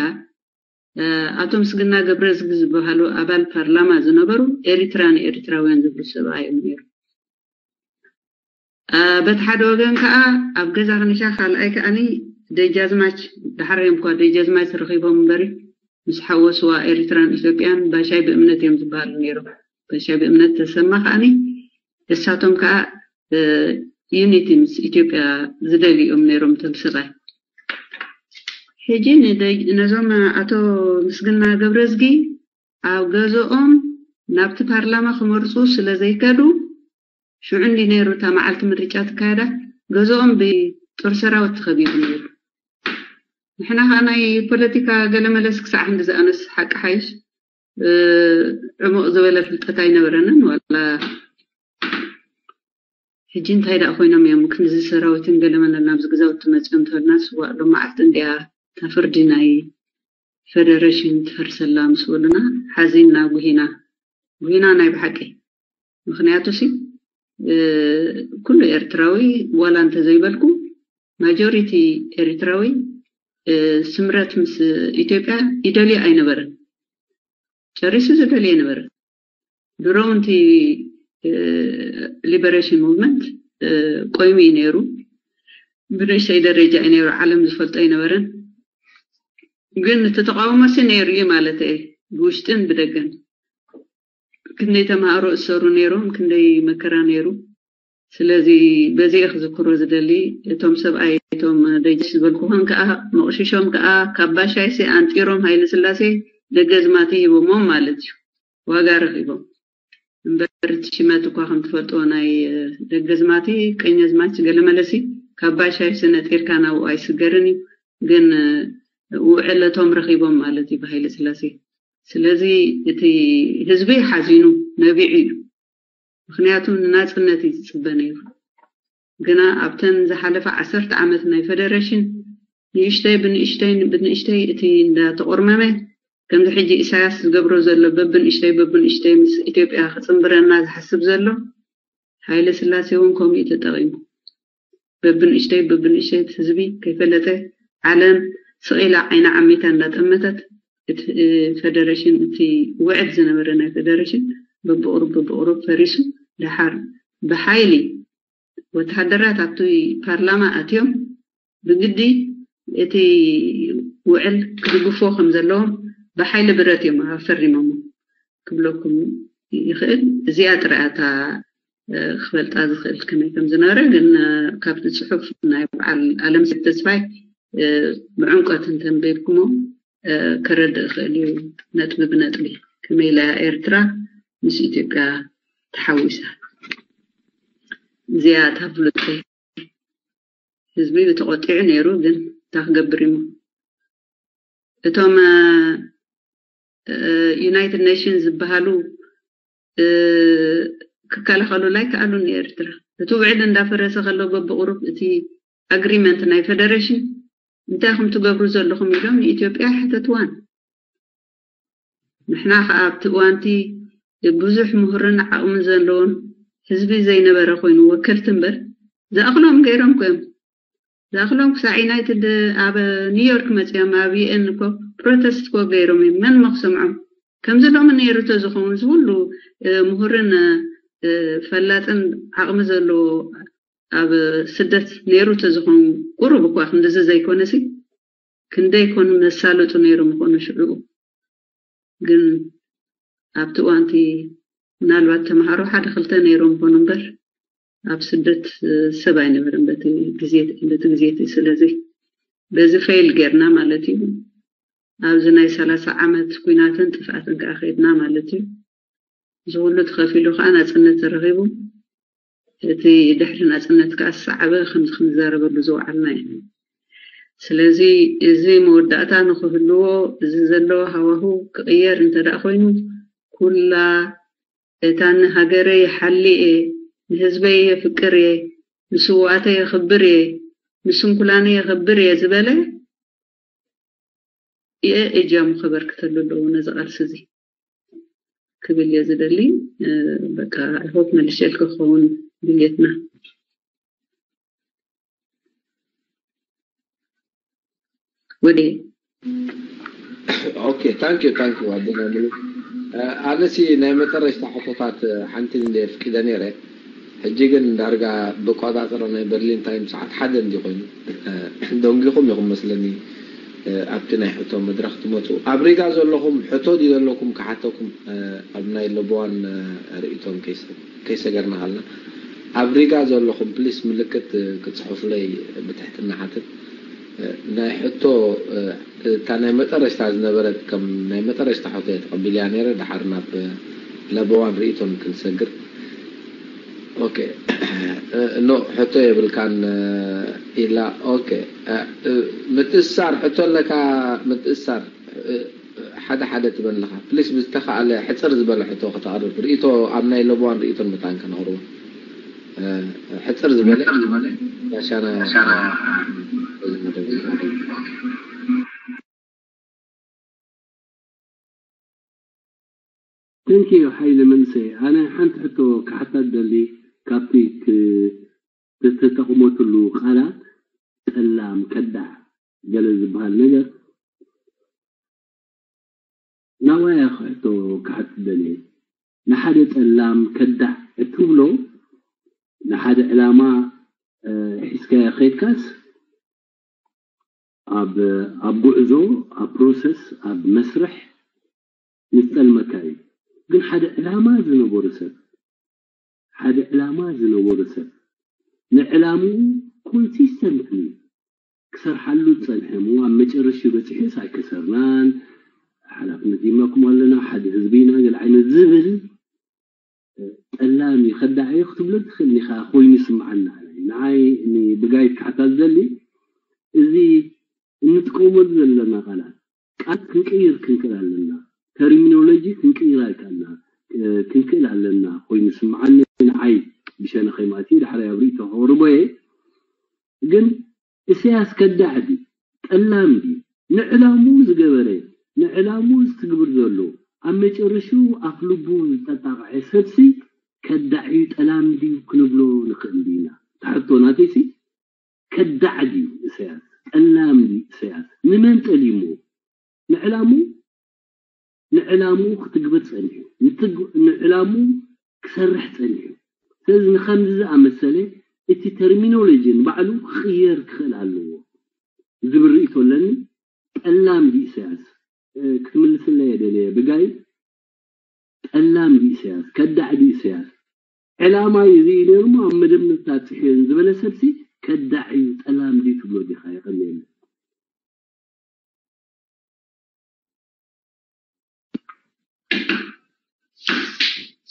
ኣቶ ምስግና ገብረዝጊ ዝበሃሉ ኣባል ፓርላማ ዝነበሩ ኤሪትራ ንኤሪትራውያን ዝብሉ ሰብኣይ እዮም ነይሩ። በቲ ሓደ ወገን ከዓ ኣብ ገዛ ከኒሻ ካልኣይ ከዓኒ ደጃዝማች ዳሕራዮም እኳ ደጃዝማች ረኺቦም እምበሪ ምስ ሓወስዋ ኤሪትራን ኢትዮጵያን ባሻይ ብእምነት እዮም ዝበሃሉ ነይሮም። ባሻይ ብእምነት ተሰማ ከዓኒ እሳቶም ከዓ ዩኒቲ ምስ ኢትዮጵያ ዝደልዩ እዮም ነይሮም እቶም ሰብኣይ። ሕጂ ነዞም ኣቶ ምስግና ገብረዝጊ ኣብ ገዝኦም ናብቲ ፓርላማ ክመርፁ ስለ ዘይከዱ ሽዑ እንዲ ነይሩ እታ መዓልቲ ምርጫ ትካየዳ ገዝኦም ብጦር ሰራዊት ተኸቢቡ ነይሩ። ንሕና ከዓ ናይ ፖለቲካ ገለመለስ ክሳዕ ክንዲ ዝኣነስ ሓቂ ሓይሽ ዕሙቕ ዝበለ ፍልጠት ኣይነበረንን። ዋላ ሕጂ እንታይ ደኣ ኮይኖም እዮም ክንዚ ሰራዊትን ገለመለን ናብዚ ገዛውቲ መፅዮም ተበልና ስዋእ ሎም መዓልቲ እንዲያ እታ ፍርዲ ናይ ፌደሬሽን ትፈርሰላ ምስ በሉና ሓዚንና ጉሂና ጉሂና ናይ ብሓቂ። ምክንያቱ ሲ ኩሉ ኤርትራዊ ዋላ እንተዘይበልኩ ማጆሪቲ ኤርትራዊ ስምረት ምስ ኢትዮጵያ ይደልዮ ኣይነበረን። ጨሪሱ ዝደልዮ ኣይነበረን። ድሮ እውን እቲ ሊበሬሽን ሙቭመንት ቆይሙ እዩ ነይሩ። ብንእሽተይ ደረጃ እዩ ነይሩ። ዓለም ዝፈልጦ ኣይነበረን። ግን እቲ ተቃውሞ ሲ ነይሩ እዩ ማለት እየ። ብውሽጥን ብደገን ክንደይ ተምሃሮ እሰሩ ነይሮም፣ ክንደይ መከራ ነይሩ። ስለዚ በዚ እየ ክዝክሮ ዝደሊ። እቶም ሰብኣይ እቶም ደጅ ዝበልኩኸን ከዓ መቕሽሾም ከዓ ካብ ባሻይሲ ኣንጢሮም ሃይለ ስላሴ ደገዝማቲ ሂቦሞም ማለት እዩ። ዋጋ ረኺቦም። እምበር እቲ ሽመት እኳ ከም ትፈልጥዎ ናይ ደገዝማቲ ቀኘዝማች ገለመለሲ ካብ ባሻይሲ ነጢርካ ናብኡ ኣይስገርን እዩ። ግን ውዕለቶም ረኺቦም ማለት እዩ ብሃይለ ስላሴ። ስለዚ እቲ ህዝቢ ሓዚኑ ነቢዑ እዩ። ምክንያቱ ንናፅነት እዩ ዝፅበ ነይሩ። ግና ኣብተን ዝሓለፈ ዓሰርተ ዓመት ናይ ፌደሬሽን ንእሽተይ ብንእሽተይ ብንእሽተይ እቲ እንዳተቆርመመ ከምዚ ሕጂ ኢሳያስ ዝገብሮ ዘሎ በብንእሽተይ በብንእሽተይ ምስ ኢትዮጵያ ክጽንብረና ዝሓስብ ዘሎ፣ ሃይለ ስላሴ እውን ከምኡ እዩ ተጠቒሙ። በብንእሽተይ በብንእሽተይ እቲ ህዝቢ ከይፈለጠ፣ ዓለም ስቕ ኢላ ዓይና ዓሚታ እንዳጠመተት፣ እቲ ፈደረሽን፣ እቲ ውዕል ዝነበረ ናይ ፈደረሽን በብቑሩብ በብቑሩብ ፈሪሱ፣ ደሓር ብሓይሊ ወተሃደራት ኣብቲ ፓርላማ ኣትዮም ብግዲ እቲ ውዕል ክድግፍዎ ከም ዘለዎም ብሓይሊ ብረት እዮም ኣፈሪሞሞ ክብለኩም ይኽእል። እዚኣ ጥራይ እታ ክፈልጣ ዝኽእል ከመይ ከም ዝነበረ። ግን ካብቲ ጽሑፍ ናይ በዓል ኣለምሰገድ ተስፋይ ብዕምቆት እንተንበብኩሞ ክረድእ ይኽእል እዩ፣ ነጥቢ ብነጥቢ ከመይ ኢላ ኤርትራ ምስ ኢትዮጵያ ተሓዊሳ። እዚኣ እታ ፍሉጠይ። ህዝቢ ተቖጢዑ ነይሩ፣ ግን እንታይ ክገብር እሞ እቶም ዩናይትድ ኔሽንስ ዝበሃሉ ክከላኸሉላ ኣይከኣሉን ንኤርትራ። እቲ ውዕል እንዳፈረሰ ከሎ በብቑሩብ እቲ ኣግሪመንት ናይ ፈደረሽን እንታይ ኢኹም ትገብሩ ዘለኹም ኢሎም ንኢትዮጵያ ኣይሓተትዋን። ንሕና ከኣ ኣብቲ እዋንቲ ብዙሕ ምሁርን ዓቕሚ ዘለዎን ህዝቢ ዘይነበረ ኮይኑ ወከልቲ እምበር ዝኣኽሎም ገይሮም ኮዮም። ዝኣኽሎም ክሳዕ ዩናይትድ ኣብ ኒውዮርክ መጺኦም ኣብ ዩኤን እኮ ፕሮተስት እኮ ገይሮም እዮም። መን እሞ ክሰምዖም? ከምዚ ሎሚ ነይሩ ተዝኸውን ዝኩሉ ምሁርን ፈላጥን ዓቕሚ ዘለዎ ኣብ ስደት ነይሩ ተዝኸውን ቁሩብ እኳ ክንድዚ ዘይኮነሲ ክንደይ ኮኑ መሳለጡ ነይሩ ምኾኑ ሽዑኡ። ግን ኣብቲ እዋንቲ ምናልባት ተምሃሮ ሓደ ክልተ ነይሮም ይኾኑ እምበር ኣብ ስደት ሰብ ኣይነበረን በቲ ግዜ በቲ ግዜ እቲ። ስለዚ በዚ ፌል ጌርና ማለት እዩ። ኣብዚ ናይ ሰላሳ ዓመት ኩናትን ጥፍኣትን ከዓ ከይድና ማለት እዩ። እዚ ኩሉ ተኸፊሉ ከዓ ናፅነት ተረኺቡ። እቲ ድሕሪ ናፅነት ከዓ ዝሰዓበ ከምዚ ክንዛረበሉ ዝወዓልና እዩ። ስለዚ እዚ መወዳእታ ንክህልዎ እዚ ዘሎ ሃዋሁ ክቕየር እንተ ደኣ ኮይኑ ኩላ እታ ንሃገረ ይሓሊ እየ፣ ንህዝበይ የፍቅር እየ፣ ንስውኣተይ የኽብር እየ፣ ንስንኩላነይ የኽብር እየ ዝበለ እየ እጃሙ ከበርክተሉ ኣለዎ ነዚ ቃልሲ እዚ ክብል እየ ዝደሊ። በቃ I hope መልሸልኪ ክኸውን ድልየትና። ወደ Okay, thank you, thank you ኣቦና ሙሉ። ኣነሲ ናይ መጠረሽታ ሕቶታት ሓንቲ እንደ ፍቂደ ነይረ። ሕጂ ግን ዳርጋ ብቋጻጽሮ ናይ በርሊን ታይም ሰዓት ሓደ እንዲ ኮይኑ ደንጊኹም ኢኹም መስለኒ። ኣብቲ ናይ ሕቶ መድረኽ ትመፁ ኣብ ሪጋ ዘለኹም ሕቶ ድዩ ዘለኩም ክሓተኩም ኣብ ናይ ለቦዋን ርእይቶም ከይሰገርና ከልና ኣብ ሪጋ ዘለኹም ፕሊስ ምልክት ክትፅሕፉለይ ብትሕትና ሓትት። ናይ ሕቶ እታ ናይ መጠረሽታ ዝነበረት ከም ናይ መጠረሽታ ሕቶ እየ ተቐቢልያ ነይረ። ድሓር ናብ ለበዋን ርእይቶን ክንሰግር። ኦኬ ኖ ሕቶ የብልካን ኢላ። ኦኬ ምትእሳር ሕቶ ኣለካ ምትእሳር ሓደ ሓደ ትበል ኣለኻ ፕሊስ ብዝተኻእለ ሕፅር ዝበለ ሕቶ ከተቕርብ ርእይቶ ኣብ ናይ ለበዋን ርእይቶን መታን ከነቕርቦ ሕፅር ዝበለ ጋሻና Thank you ሓይለ መንእሰይ ኣነ ሓንቲ ሕቶ ክሓታ ዝደሊ ካብቲ ዝተጠቕመትሉ ቃላት ጠላም ከዳዕ ገለ ዝበሃል ነገር ናባይ እያ ሕቶ ክሓትት ደልየ ንሓደ ጠላም ከዳዕ እትብሎ ንሓደ ዕላማ ሒዝካዮ ከይድካስ ኣብ ኣብ ጉዕዞ ኣብ ፕሮሰስ ኣብ መስርሕ ይጠልመካ እዩ ግን ሓደ ዕላማ ዝነበሮ ሰብ ሓደ ዕላማ ዝነበሮ ሰብ ንዕላምኡ ኮንሲስተንትሊ ክሰርሓሉ ዝጸንሐ እሞ ኣብ መጨረሽኡ በጺሑስ ኣይከሰርናን ሓላፍነት ይመኩም ኣለና ሓደ ህዝቢ ኢና ገለ ዓይነት ዝብል ጠላም እዩ ከዳዕ እዩ ክትብሎ ትኽእል ኢኻ ኮይኑ ይስምዓና ንዓይ ብጋይድ ክሓታ ዝደሊ እዚ እንጥቀመሉ ዘለና ቃላት ቃላት ክንቅይር ክንክእል ኣለና ተርሚኖሎጂ ክንቅይር ኣይከኣልና ክንክእል ኣለና ኮይኑ ይስምዓኒ ንዓይ ብሸነኸይ ማለት እዩ ዳሕራይ ኣብ ርእይቶ ከቕርቦ እየ ግን እስያስ ከዳዕ ድዩ ጠላም ድዩ ንዕላምኡ ዝገበረ ንዕላሙ ዝትግብር ዘሎ ኣብ መጨረሽኡ ኣፍ ልቡ ዝተጣቕዐ ሰብሲ ከዳዕ እዩ ጠላም ድዩ ክንብሎ ንኽእል ኢና? ትሕቶ ናተይሲ ከዳዕ ድዩ ኢሳያስ? ጠላም ድዩ ኢሳያስ? ንመን ጠሊሙ? ንዕላሙ ንዕላሙ ክትግብር ጸኒሑ ንትግ- ንዕላሙ ክሰርሕ ጸኒሑ። ስለዚ ንኸምዚ ዝኣመሰለ እቲ ተርሚኖሎጂ ንባዕሉ ክቕየር ክኽእል ኣለዎ ዝብል ርእይቶ ኣለኒ። ጠላም ድዩ ኢሳያስ? ክትምልስለይ እየ ደልየ ብጋይ። ጠላም ድዩ ኢሳያስ? ከዳዕ ድዩ ኢሳያስ? ዕላማ እዩ እዚ ነይሩ እሞ ኣብ መደብ ምብታን ጽሕዮን ዝበለ ሰብሲ ከዳዕ እዩ ጠላም ድዩ ትብሎ ዲኻ? የቐንየለይ።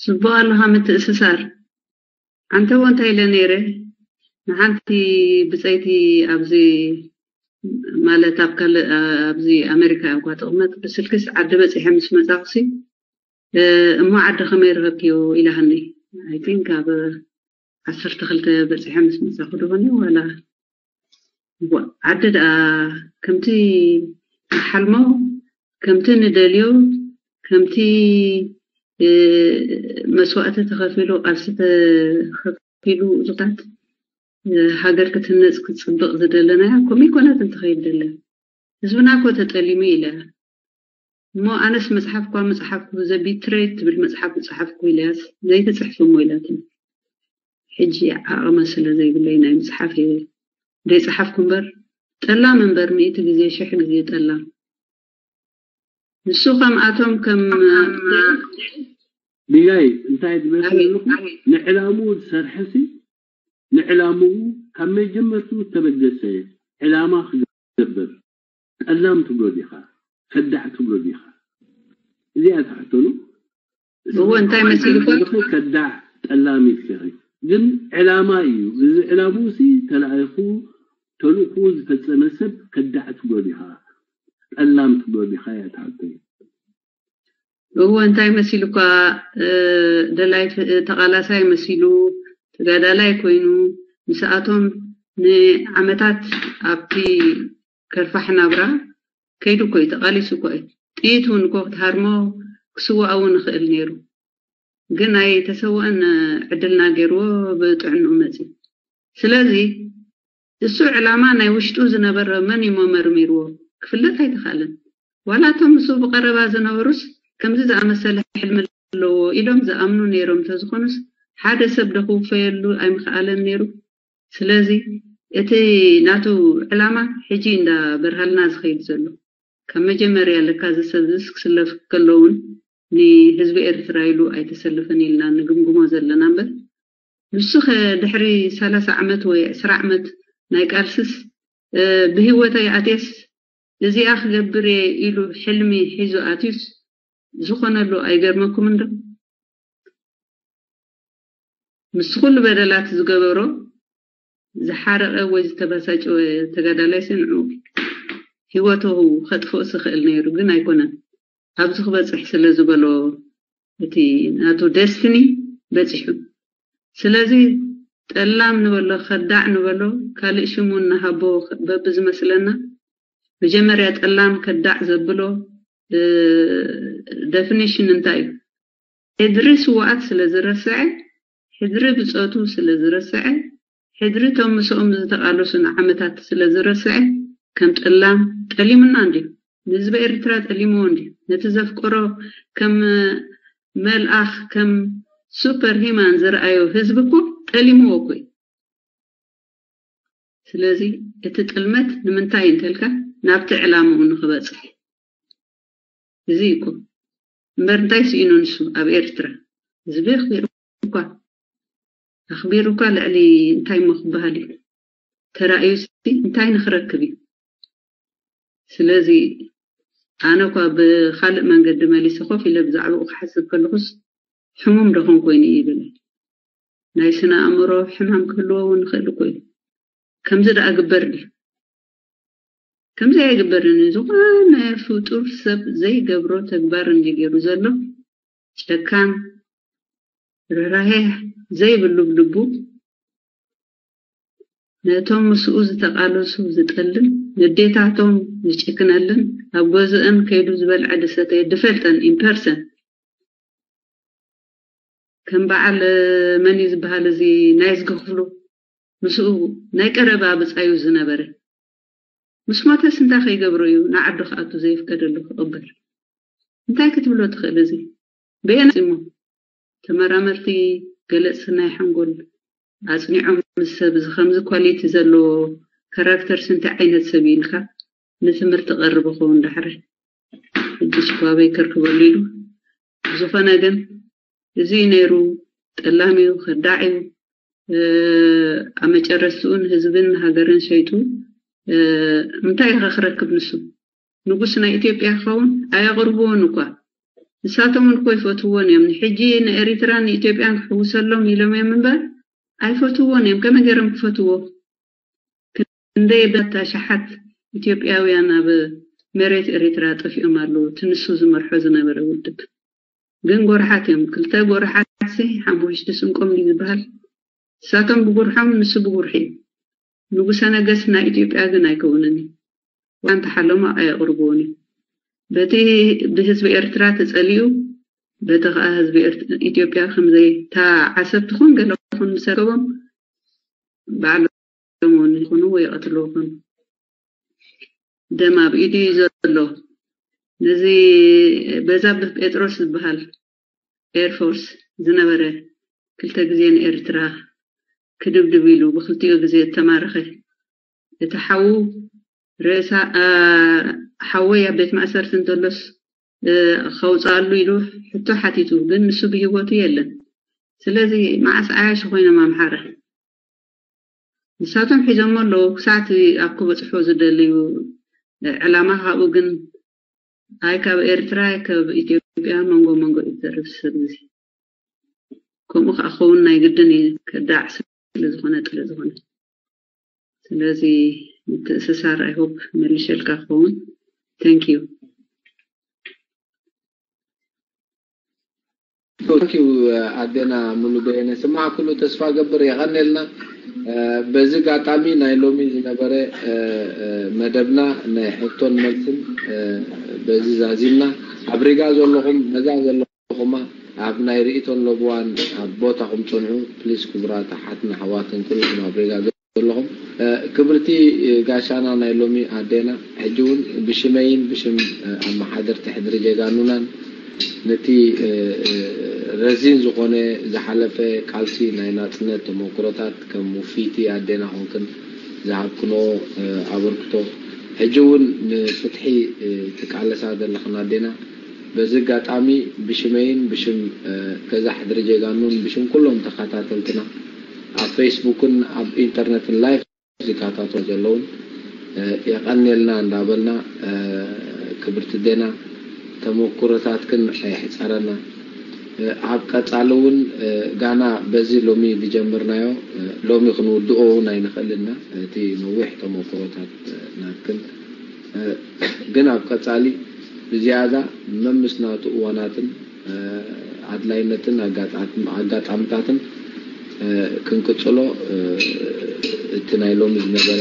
ጽቡቕ ኣለኻ ምትእስሳር። ኣንተ እውን እንታይ ኢለ ነይረ ንሓንቲ ብጸይቲ ኣብዚ ማለት ኣብ ካልእ ኣብዚ ኣሜሪካ እኳ ትቕመጥ ብስልክስ ዓዲ በጺሐ ምስ መጻኹሲ እሞ ዓዲ ከመይ ረኸብክዮ ኢላሃኒ። I think ኣብ ዓሰርተ ክልተ በጺሐ ምስ መጻኹ ዶ ኾን ዋላ ዓዲ ደኣ ከምቲ ንሓልሞ ከምቲ ንደልዮ ከምቲ መስዋእቲ ተኸፊሉ ቃልሲ ተኸፊሉ እዙታት ሃገር ክትህነፅ ክትፅብቕ ዝደለናያ ከምኡ ይኮነት እንትኸይድ ደለ ህዝብና እኮ ተጠሊሙ ኢለ እሞ ኣነስ መፅሓፍ እኳ ምፅሓፍኩ ዘቢትሬት ትብል መፅሓፍ ምፅሓፍኩ ኢለያስ ዘይትፅሕፍ እሞ ኢላትኒ ሕጂ ዓቕመ ስለ ዘይብለይ ናይ ምፅሓፍ እየ ዘይፀሓፍኩ እምበር ጠላም እምበር ሚእቲ ግዜ ሽሕ ግዜ ጠላም ንሱ ከምኣቶም ከም ቢጋይ እንታይ ትመስል ኣለኹ ንዕላምኡ ዝሰርሐሲ ንዕላምኡ ካብ መጀመርትኡ ዝተበገሰ ዕላማ ክገብር ጠላም ትብሎ ዲኻ ከዳዕ ትብሎ ዲኻ እዚኣ ትሕተሉ እዎ እንታይ መሲልኩም ከዳዕ ጠላም ኢልኪ ግን ዕላማ እዩ እዚ ዕላምኡ ሲ ተላኢኹ ተልእኹ ዝፈጸመ ሰብ ከዳዕ ትብሎ ዲኻ ጠላም ትብሎ ዲኻ እያ ትሕተሉ እዎ እንታይ መሲሉ እኳ ደላይ ተቓላሳይ መሲሉ ተጋዳላይ ኮይኑ ምስኣቶም ንዓመታት ኣብቲ ከርፋሕ ናብራ ከይዱ እኮ እዩ ተቓሊሱ እኮ እዩ ጥይት እውን እኮ ክትሃርሞ ክስዋእ እውን ይኽእል ነይሩ ግን ኣይተሰወአን ዕድልና ገይርዎ ብጥዕንኡ መፅዩ ስለዚ እሱ ዕላማ ናይ ውሽጡ ዝነበረ መን እዩ መመርሚርዎ ክፍለጥ ኣይተኻለን። ዋላ እቶም ምስኡ ብቐረባ ዝነበሩስ ከምዚ ዝኣመሰለ ሕልሚ ኣለዎ ኢሎም ዝኣምኑ ነይሮም እንተዝኾኑስ ሓደ ሰብ ዶ ክውፈየሉ ኣይምኽኣለን ነይሩ። ስለዚ እቲ ናቱ ዕላማ ሕጂ እንዳበርሃልና ዝኸይድ ዘሎ ካብ መጀመርያ ለካ እዚ ሰብ ዝስ ክስለፍ ከሎ እውን ንህዝቢ ኤርትራ ኢሉ ኣይተሰለፈን ኢልና ንግምግሞ ዘለና እምበር ንሱ ከ ድሕሪ ሰላሳ ዓመት ወይ ዕስራ ዓመት ናይ ቃልስስ ብህይወተይ ኣትየስ እዚኣ ክገብር እየ ኢሉ ሕልሚ ሒዙ ኣትዩስ ዝኾነሉ ኣይገርመኩምን ዶ? ምስ ኩሉ በደላት ዝገበሮ ዝሓረቐ ወይ ዝተበሳጨወ ተጋዳላይ ስንዑ ህይወቱ ከጥፍኦ ዝኽእል ነይሩ ግን ኣይኮነን። ኣብዚ ክበፅሕ ስለ ዝበሎ እቲ ናቱ ደስትኒ በፂሑ። ስለዚ ጠላም ንበሎ ከዳዕ ንበሎ ካልእ ሽሙ ንሃቦ በቢ ዝመስለና መጀመርያ ጠላም ከዳዕ ዘብሎ ደፊኒሽን እንታይ እዩ? ሕድሪ ስዋኣት ስለ ዝረስዐ፣ ሕድሪ ብጾቱ ስለ ዝረስዐ፣ ሕድሪ እቶም ምስኦም ዝተቓለሱ ንዓመታት ስለ ዝረስዐ ከም ጠላም ጠሊሙና እንድዩ። ንህዝቢ ኤርትራ ጠሊምዎ እንድዩ። ነቲ ዘፍቀሮ ከም መልኣኽ ከም ሱፐር ሂማን ዝረኣዮ ህዝቢ እኮ ጠሊምዎ እኮ እዩ። ስለዚ እቲ ጥልመት ንምንታይ እንተልካ ናብቲ ዕላምኡ ንኽበጽሕ እዚ እዩ እኮ እምበር እንታይ ስኢኑ ንሱ ኣብ ኤርትራ ህዝቢ ኣኽቢሩ እኳ ኣኽቢሩ እኳ ልዕሊ እንታይ እሞ ክበሃል እዩ ተራእዩ ሲ እንታይ ንኽረክብ እዩ ስለዚ ኣነ እኳ ብኻልእ መንገዲ መሊሰ ኮፍ ኢለ ብዛዕባኡ ክሓስብ ከለኹስ ሕሙም ዶ ኾንኩ ወይኒ ይብል ናይ ስነ ኣእምሮ ሕማም ክህልዎ እውን ይኽእል እኮ እዩ ከምዚ ደኣ ግበር ድዩ ከምዚ ኣይግበርን ዝኾነ ፍጡር ሰብ ዘይገብሮ ተግባር እንዲ ገይሩ ዘሎ ጨካን ርህራሄ ዘይብሉ ብልቡ ነቶም ምስኡ ዝተቃለሱ ዝጠልም ንዴታቶም ዝጭክነልን ኣብ ገዝአን ከይዱ ዝበልዐ ዝሰተየ ዝፈልጠን in person ከም በዓል መን እዩ ዝበሃል እዚ ናይ ዝገ ክፍሉ ምስኡ ናይ ቀረባ ብጻዩ ዝነበረ ምስ ሞተስ እንታይ ከይገብሮ እዩ ንዓዱ ክኣቱ ዘይፍቀደሉ ክቕበል? እንታይ ክትብሎ ትኽእል እዚ? በየን እሞ ተመራመርቲ ገለጽቲ ናይ ሓንጎል ኣጽኒዖም ምስ ሰብ እዚ ከምዚ ኳሊቲ ዘለዎ ካራክተርስ እንታይ ዓይነት ሰብ እዩ ኢልካ ንትምህርቲ ቀርብ ኸውን ዳሕረ ሕጂ ሽኳበይ ከርክበሉ ኢሉ ብዝኾነ ግን እዚ ነይሩ ጠላም እዩ ከዳዕ እዩ ኣብ መጨረስትኡ ንህዝብን ሃገርን ሸይጡ እንታይ ኢኻ ክረክብ ንሱ ንጉስ ናይ ኢትዮጵያ ክኸውን ኣየቕርብዎን እኳ ንሳቶም እውን እኮ ይፈትውዎን እዮም ንሕጂ ንኤሪትራን ንኢትዮጵያን ክሕውሰሎም ኢሎም እዮም እምበር ኣይፈትውዎን እዮም ከመይ ገይሮም ክፈትዎ ክንደይ በታ ሸሓት ኢትዮጵያውያን ኣብ መሬት ኤሪትራ ጠፊኦም ኣለዉ እቲ ንሱ ዝመርሖ ዝነበረ ውድብ ግን ጎርሓት እዮም ክልተ ጎርሓት ሲ ሓሙሽቲ ስንቆም ድዩ ዝበሃል ንሳቶም ብጉርሖም ንሱ ብጉርሒ እዩ ንጉሰ ነገስት ናይ ኢትዮጵያ ግን ኣይከውንን እዩ ዋንታ ሓለሞ ኣየቕርብዎን እዩ በቲ ብህዝቢ ኤርትራ ተጸሊኡ በቲ ከዓ ህዝቢ ኢትዮጵያ ከምዘይታ ዓሰብ ትኹን ገለ ኹን ምሰከቦም ባዕሎም ይኹኑ ወይ ይቐትልዎ ይኹኑ ደም ኣብ ኢዱ እዩ ዘሎ ነዚ በዛብህ ጴጥሮስ ዝበሃል ኤርፎርስ ዝነበረ ክልተ ግዜ ንኤርትራ ክድብድብ ኢሉ ብክልቲኡ ግዜ እተማረኸ እቲ ሓዉ ርእሳ ሓወይ ኣብ ቤት ማእሰርቲ እንተሎስ ከውፅኣሉ ኢሉ ሕቶ ሓቲቱ ግን ንሱ ብሂወቱ የለን ስለዚ መዓስ ዓያሹ ኮይኖም ኣምሓረ ንሳቶም ሒዞሞ ኣለዉ ክሳዕቲ ኣብ ክበፅሑ ዝደልዩ ዕላማ ካብኡ ግን ኣይ ካብ ኤርትራ ኣይ ካብ ኢትዮጵያ መንጎ መንጎ እዩ ዘርብ ሰብ እዚ ከምኡ ከዓ ክኸውን ናይ ግድን እዩ ከዳዕ ስለዝኾነ ጥለ ዝኾነ ስለዚ ምትእስሳር ኣይ ሆፕ መልሸልካ ክኸውን thank you Thank you ኣዴና ሙሉ በየነ ስማዕ ኩሉ ተስፋ ገብር የቐኔልና በዚ ጋጣሚ ናይ ሎሚ ዝነበረ መደብና ናይ ሕቶን መልስን በዚ ዛዚምና ኣብ ሪጋ ዘለኹም ነዛ ዘለኹማ ኣብ ናይ ርእቶን ለብዋን ኣብ ቦታኹም ፅንዑ ፕሊስ ክቡራት ኣሓትና ኣሕዋትን ኩልኹም ኣብ ሪጋ ዘለኹም ክብርቲ ጋሻና ናይ ሎሚ ኣዴና ሕጂ እውን ብሽመይን ብሽም ኣመሓደርቲ ሕድሪ ጀጋኑናን ነቲ ረዚን ዝኾነ ዝሓለፈ ቃልሲ ናይ ናፅነት ተመክሮታት ከም ውፍይቲ ኣዴና ኮንክን ዝሃብክኖ ኣበርክቶ ሕጂ እውን ንፍትሒ ትቃለሳ ዘለኽን ኣዴና በዚ ኣጋጣሚ ብሽመይን ብሽም ገዛ ሕድሪ ጀጋኑን ብሽም ኩሎም ተኸታተልትና ኣብ ፌስቡክን ኣብ ኢንተርነትን ላይፍ ዝከታተሉ ዘለውን የቐንየልና እንዳበልና ክብርቲ ዴና ተመኩሮታትክን ኣየሕፀረና ኣብ ቀፃሊ እውን ጋና በዚ ሎሚ ዝጀመርናዮ ሎሚ ክንውድኦ እውን ኣይንኽእልና እቲ ነዊሕ ተመኩሮታት ናትክን ግን ኣብ ቀፃሊ ብዝያዳ መምስ ናቱ እዋናትን ኣድላይነትን ኣጋጣምታትን ክንቅፅሎ እቲ ናይ ሎሚ ዝነበረ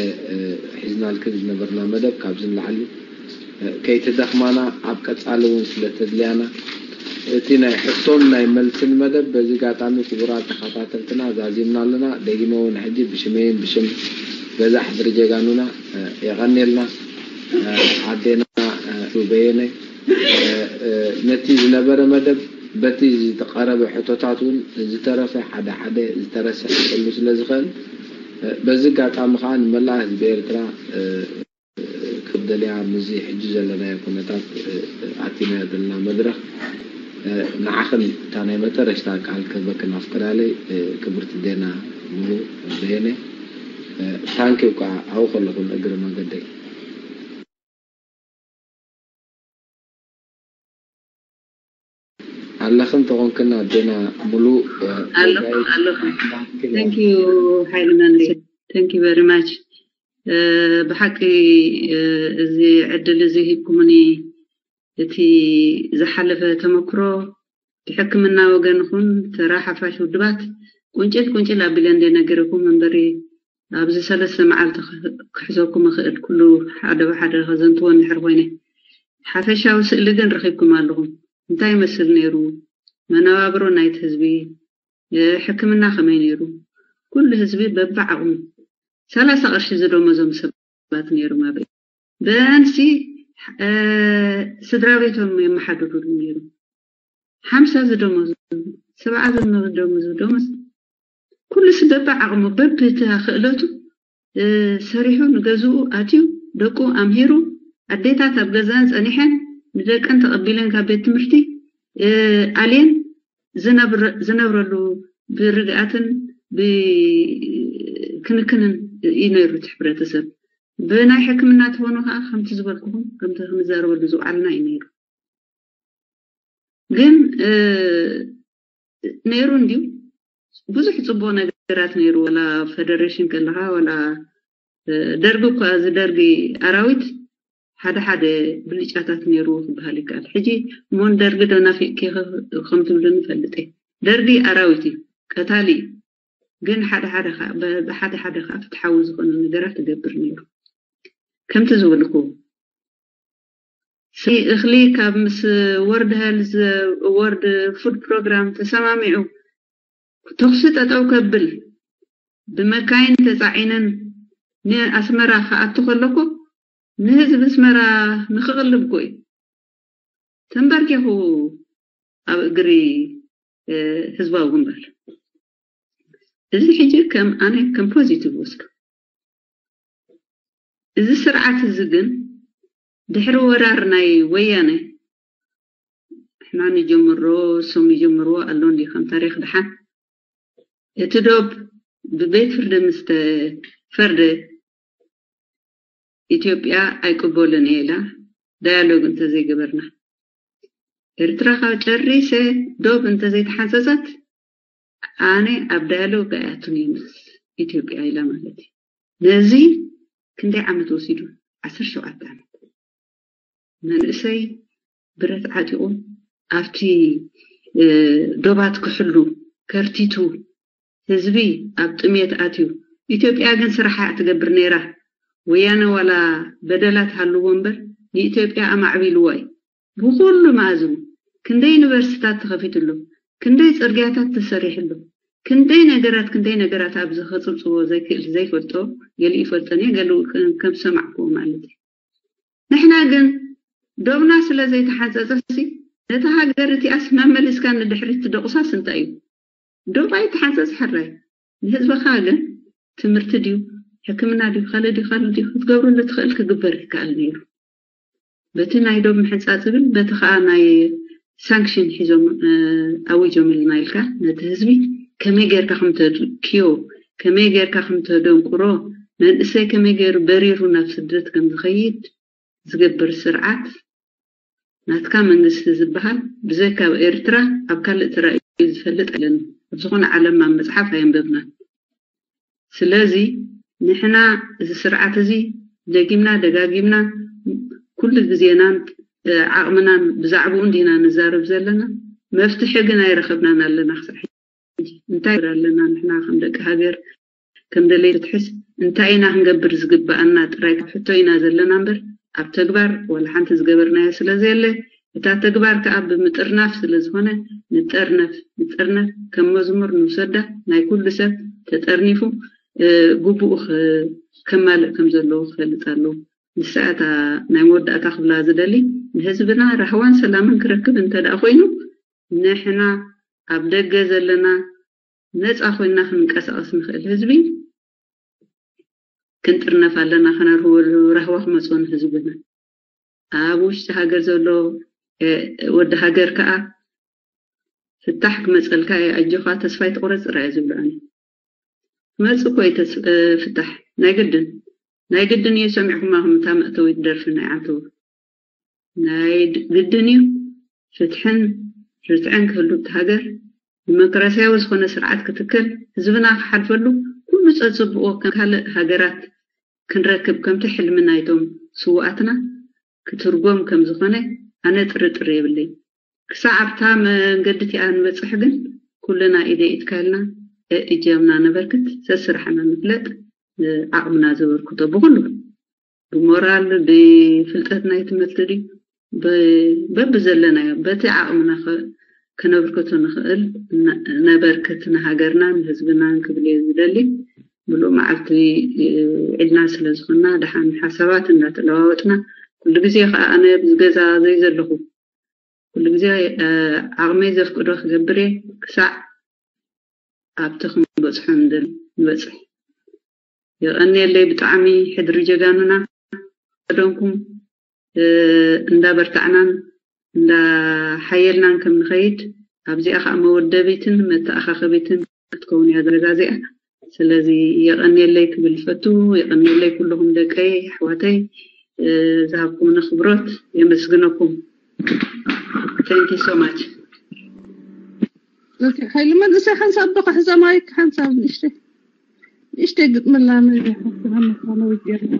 ሒዝናልክን ዝነበርና መደብ ካብዚ ንላዕሊ ከይትደኽማና ኣብ ቀፃሊ እውን ስለ ተድልያና እቲ ናይ ሕቶን ናይ መልስን መደብ በዚ ጋጣሚ ክቡራት ተኸታተልትና ዛዚምና ኣለና። ደጊመ እውን ሕጂ ብሽመይን ብሽም ገዛ ሕድሪ ጀጋኑና የቐንየልና። ኣዴና በየነ ነቲ ዝነበረ መደብ በቲ ዝተቐረበ ሕቶታት እውን ዝተረፈ ሓደ ሓደ ዝተረሰ ክህሉ ስለ ዝኽእል በዚ ኣጋጣሚ ከዓ ንመላእ ህዝቢ ኤርትራ ክብደልያ ምስዚ ሕጂ ዘለናዮ ኩነታት ኣቲናዮ ዘለና መድረኽ ንዓኽን እታ ናይ መጠረሽታ ቃል ክህበክን ኣፍቅዳለይ ክብርቲ ዴና ሙሉ በየነ ታንኪው ከዓ ኣብኡ ከለኹን እግሪ መገደይ ኣለኽን ተኾንክን ኣዴና ሙሉ ኣለኹ ኣለኹ thank you ሓይሊ መንሪ thank you very much ብሓቂ እዚ ዕድል እዚ ሂብኩምኒ እቲ ዝሓለፈ ተመክሮ ብሕክምና ወገን ኹን ተራ ሓፋሽ ውድባት ቁንጭል ቁንጭል ኣቢለ እንደ ነገረኩም እምበሪ ኣብዚ ሰለስተ መዓልቲ ክሕዘኩም እኽእል፣ ኩሉ ሓደ ብሓደ ከዘንትዎ እንድሕር ኮይነ። ሓፈሻዊ ስእሊ ግን ረኺብኩም ኣለኹም። እንታይ ይመስል ነይሩ መነባብሮ ናይቲ ህዝቢ? ሕክምና ከመይ ነይሩ? ኩሉ ህዝቢ በብዓቕሙ ሰላሳ ቅርሺ ዝደመዞም ሰባት ነይሮም። ኣብ ብኣንሲ ስድራ ቤቶም የመሓድሩሉ ነይሩ። ሓምሳ ዝደመዙ፣ ሰብዓ ዝደመዙ ደመዝ፣ ኩሉ ሲ በብዓቕሙ በብቲ ክእለቱ ሰሪሑ፣ ንገዝኡ ኣትዩ፣ ደቁ ኣምሂሩ፣ ኣዴታት ኣብ ገዛን ጸኒሐን ንደቀን ተቐቢለን ካብ ቤት ትምህርቲ ኣልየን ዝነብረሉ ብርግኣትን ብክንክንን እዩ ነይሩ እቲ ሕብረተሰብ። ብናይ ሕክምና ትኾኑ ከዓ ከምቲ ዝበልኩኹም ከምቲ ክንዛረበሉ ዝውዓልና እዩ ነይሩ። ግን ነይሩ እንዲዩ ብዙሕ ፅቡቅ ነገራት ነይሩ። ወላ ፌደሬሽን ከለካ ወላ ደርጊ እኳ እዚ ደርጊ ኣራዊት ሓደ ሓደ ብልጫታት ነይሩ ክበሃል ይከኣል። ሕጂ እሞን ደርጊ ዶ ናፊቅኪ ከም ትብሉኒ ይፈልጥ እየ። ደርጊ ኣራዊት እዩ፣ ቀታሊ እዩ። ግን ሓደ ሓደ ብሓደ ሓደ ከዓ ፍትሓዊ ዝኾነ ነገራት ትገብር ነይሩ። ከምቲ ዝበልኩ እኽሊ ካብ ምስ ወርድ ሄልዝ ወርድ ፉድ ፕሮግራም ተሰማሚዑ ተኹሲ ጠጠው ከብል ብመካይን ተፃዒነን ንኣስመራ ክኣቱ ከለኩ ንህዝቢ ኣስመራ ንክቕልብ ኮ እዩ ተንበርኪኹ ኣብ እግሪ ህዝባዊ ግንባር። እዚ ሕጂ ከም ኣነ ከም ፖዚቲቭ ወስዶ። እዚ ስርዓት እዚ ግን ድሕሪ ወራር ናይ ወያነ ንሕና ንጀምሮ እሶም ይጀምርዎ ኣሎ እንዲ ከም ታሪክ ድሓን እቲ ዶብ ብቤት ፍርዲ ምስ ተፈርደ ኢትዮጵያ ኣይቅበልን እየ ኢላ ዳያሎግ እንተዘይገበርና ኤርትራ ካብ ጨሪሰ ዶብ እንተዘይተሓንፀፀት ኣነ ኣብ ዳያሎግ ኣይኣቱን እየ ምስ ኢትዮጵያ ኢላ ማለት እዩ። ነዚ ክንደይ ዓመት ወሲዱ? ዓሰርተ ሸውዓተ ዓመት። መንእሰይ ብረት ዓጢቑ ኣብቲ ዶባት ክሕሉ ከርቲቱ ህዝቢ ኣብ ጥሜት ኣትዩ። ኢትዮጵያ ግን ስራሓ ትገብር ነይራ። ወያነ ዋላ በደላት ሃልዎ እምበር ንኢትዮጵያ ኣማዕቢልዋ እዩ። ብኩሉ መኣዝኑ ክንደይ ዩኒቨርሲታት ተኸፊትሉ፣ ክንደይ ፅርግያታት ተሰሪሕሉ፣ ክንደይ ነገራት ክንደይ ነገራት ኣብዚ ከፅብፅቦ ዘይክእል ዘይፈልጦ ገሊኡ ይፈልጠን እየ ገሊኡ ከም ዝሰማዕክዎ ማለት እዩ። ንሕና ግን ዶብና ስለ ዘይተሓንፀፀ ሲ ነታ ሃገር እቲኣስ መመሊስካ ንድሕሪት ትደቑሳስ እንታይ እዩ? ዶብ ኣይተሓንፀፅ ሕራይ ንህዝብኻ ግን ትምህርቲ ድዩ ሕክምና ድዩ ካልእ ድዩ ካልእ ድዩ ክትገብረሉ ትኽእል ክግበር ይከኣል ነይሩ። በቲ ናይ ዶብ ምሕንፃፅ ዝብል በቲ ከዓ ናይ ሳንክሽን ሒዞም ኣዊጆምልና ኢልካ ነቲ ህዝቢ ከመይ ጌርካ ከምተድክዮ ከመይ ጌርካ ከምተደንቁሮ መንእሰይ ከመይ ገይሩ በሪሩ ናብ ስደት ከም ዝኸይድ ዝገብር ስርዓት ናትካ መንግስቲ ዝበሃል ብዘይካ ኣብ ኤርትራ ኣብ ካልእ ተራእዩ ዝፈልጥ የለን። ኣብ ዝኾነ ዓለም ኣብ መፅሓፍ ኣየንበብናን። ስለዚ ንሕና እዚ ስርዓት እዚ ደጊምና ደጋጊምና ኩሉ ግዜናን ዓቕምናን ብዛዕባኡ እንዲና ንዛረብ ዘለና። መፍትሒ ግን ኣይረኸብናን ኣለና ክሳብ ሕጂ። እንታይ ኣለና ንሕና ከም ደቂ ሃገር ከም ደለይ ፍትሕስ እንታይ ኢና ክንገብር ዝግበኣና ጥራይ ካብ ሕቶ ኢና ዘለና እምበር ኣብ ተግባር ዋላ ሓንቲ ዝገበርናዮ ስለ ዘየለ እታ ተግባር ከዓ ብምጥርናፍ ስለ ዝኾነ ንጠርነፍ ንጠርነፍ ከም መዝሙር ንውሰዳ ናይ ኩሉ ሰብ ተጠርኒፉ ግቡኡ ከማልእ ከም ዘለዎ ክፈልጥ ኣለዎ። ንሳ እታ ናይ መወዳእታ ክብላ ዝደሊ ንህዝብና ራህዋን ሰላምን ክረክብ እንተ ደኣ ኮይኑ ንሕና ኣብ ደገ ዘለና ነፃ ኮይንና ክንንቀሳቐስ ንኽእል ህዝቢ ክንጥርነፍ ኣለና። ከነርህወሉ ራህዋ ክመፅኦ ንህዝብና ኣብ ውሽጢ ሃገር ዘሎ ወዲ ሃገር ከዓ ፍታሕ ክመፀልካ እዩ ኣጆኻ ተስፋ ኣይትቑረፅ ጥራይ ዝብሎ ኣነ። ክመፅእ እኮ እዩ ፍታሕ ናይ ግድን ናይ ግድን እዩ። ሰሚዕኩማ ከምታ መእተዊት ደርፊ ናይ ዓንተወ ናይ ግድን እዩ። ፍትሕን ርትዕን ክህሉ እቲ ሃገር ዲሞክራሲያዊ ዝኾነ ስርዓት ክትከል ህዝብና ክሓልፈሉ ኩሉ ፀፅብኦ ከም ካልእ ሃገራት ክንረክብ ከምቲ ሕልሚ ናይቶም ስውኣትና ክትርጎም ከም ዝኾነ ኣነ ጥርጥር የብለይ። ክሳዕ ኣብታ መንገዲ እቲኣ ንበፅሕ ግን ኩልና ኢደ ኢድካ ኢልና እጃምና ነበርክት ሰስራሕና ንፍለጥ። ዓቕምና ዘበርክቶ ብኩሉ፣ ብሞራል፣ ብፍልጠት ናይ ትምህርቲ ድዩ፣ በብዘለናዮ በቲ ዓቕምና ከነብርክቶ ንኽእል ነበርክት ንሃገርናን ህዝብናን ክብል እየ ዝደሊ። ምሉእ መዓልቲ ዒድና ስለ ዝኾንና ደሓን ሓሳባት እንዳተለዋወጥና፣ ኩሉ ግዜ ከዓ ኣነ ኣብዚ ገዛ ዘይዘለኹ ኩሉ ግዜ ዓቕመይ ዘፍቅዶ ክገብር እየ፣ ክሳዕ ኣብቲ ክንበፅሖ ንደሊ ንበፅሕ። የቐንየለይ ብጣዕሚ ሕድሪ ጀጋኑና። ቀደምኩም እንዳበርታዕናን እንዳሓየልናን ከም ንኸይድ፣ ኣብዚኣ ከዓ መወደቢትን መተኣኻኸቢትን ክትከውን እያ ዘረጋዚኣ። ስለዚ የቐንየለይ ክብል ፈቱ። የቐንየለይ ኩልኹም ደቀይ ኣሕዋተይ ዝሃብኩምኒ ክብሮት የመስግነኩም። Thank you so much. ሓይሊ መንእሰይ ሓንሳብ ዶ ክሕዘ ማይክ ሓንሳብ ንእሽተይ ንእሽተይ ግጥምላ ንሓፍትና መፋነዊ ገርና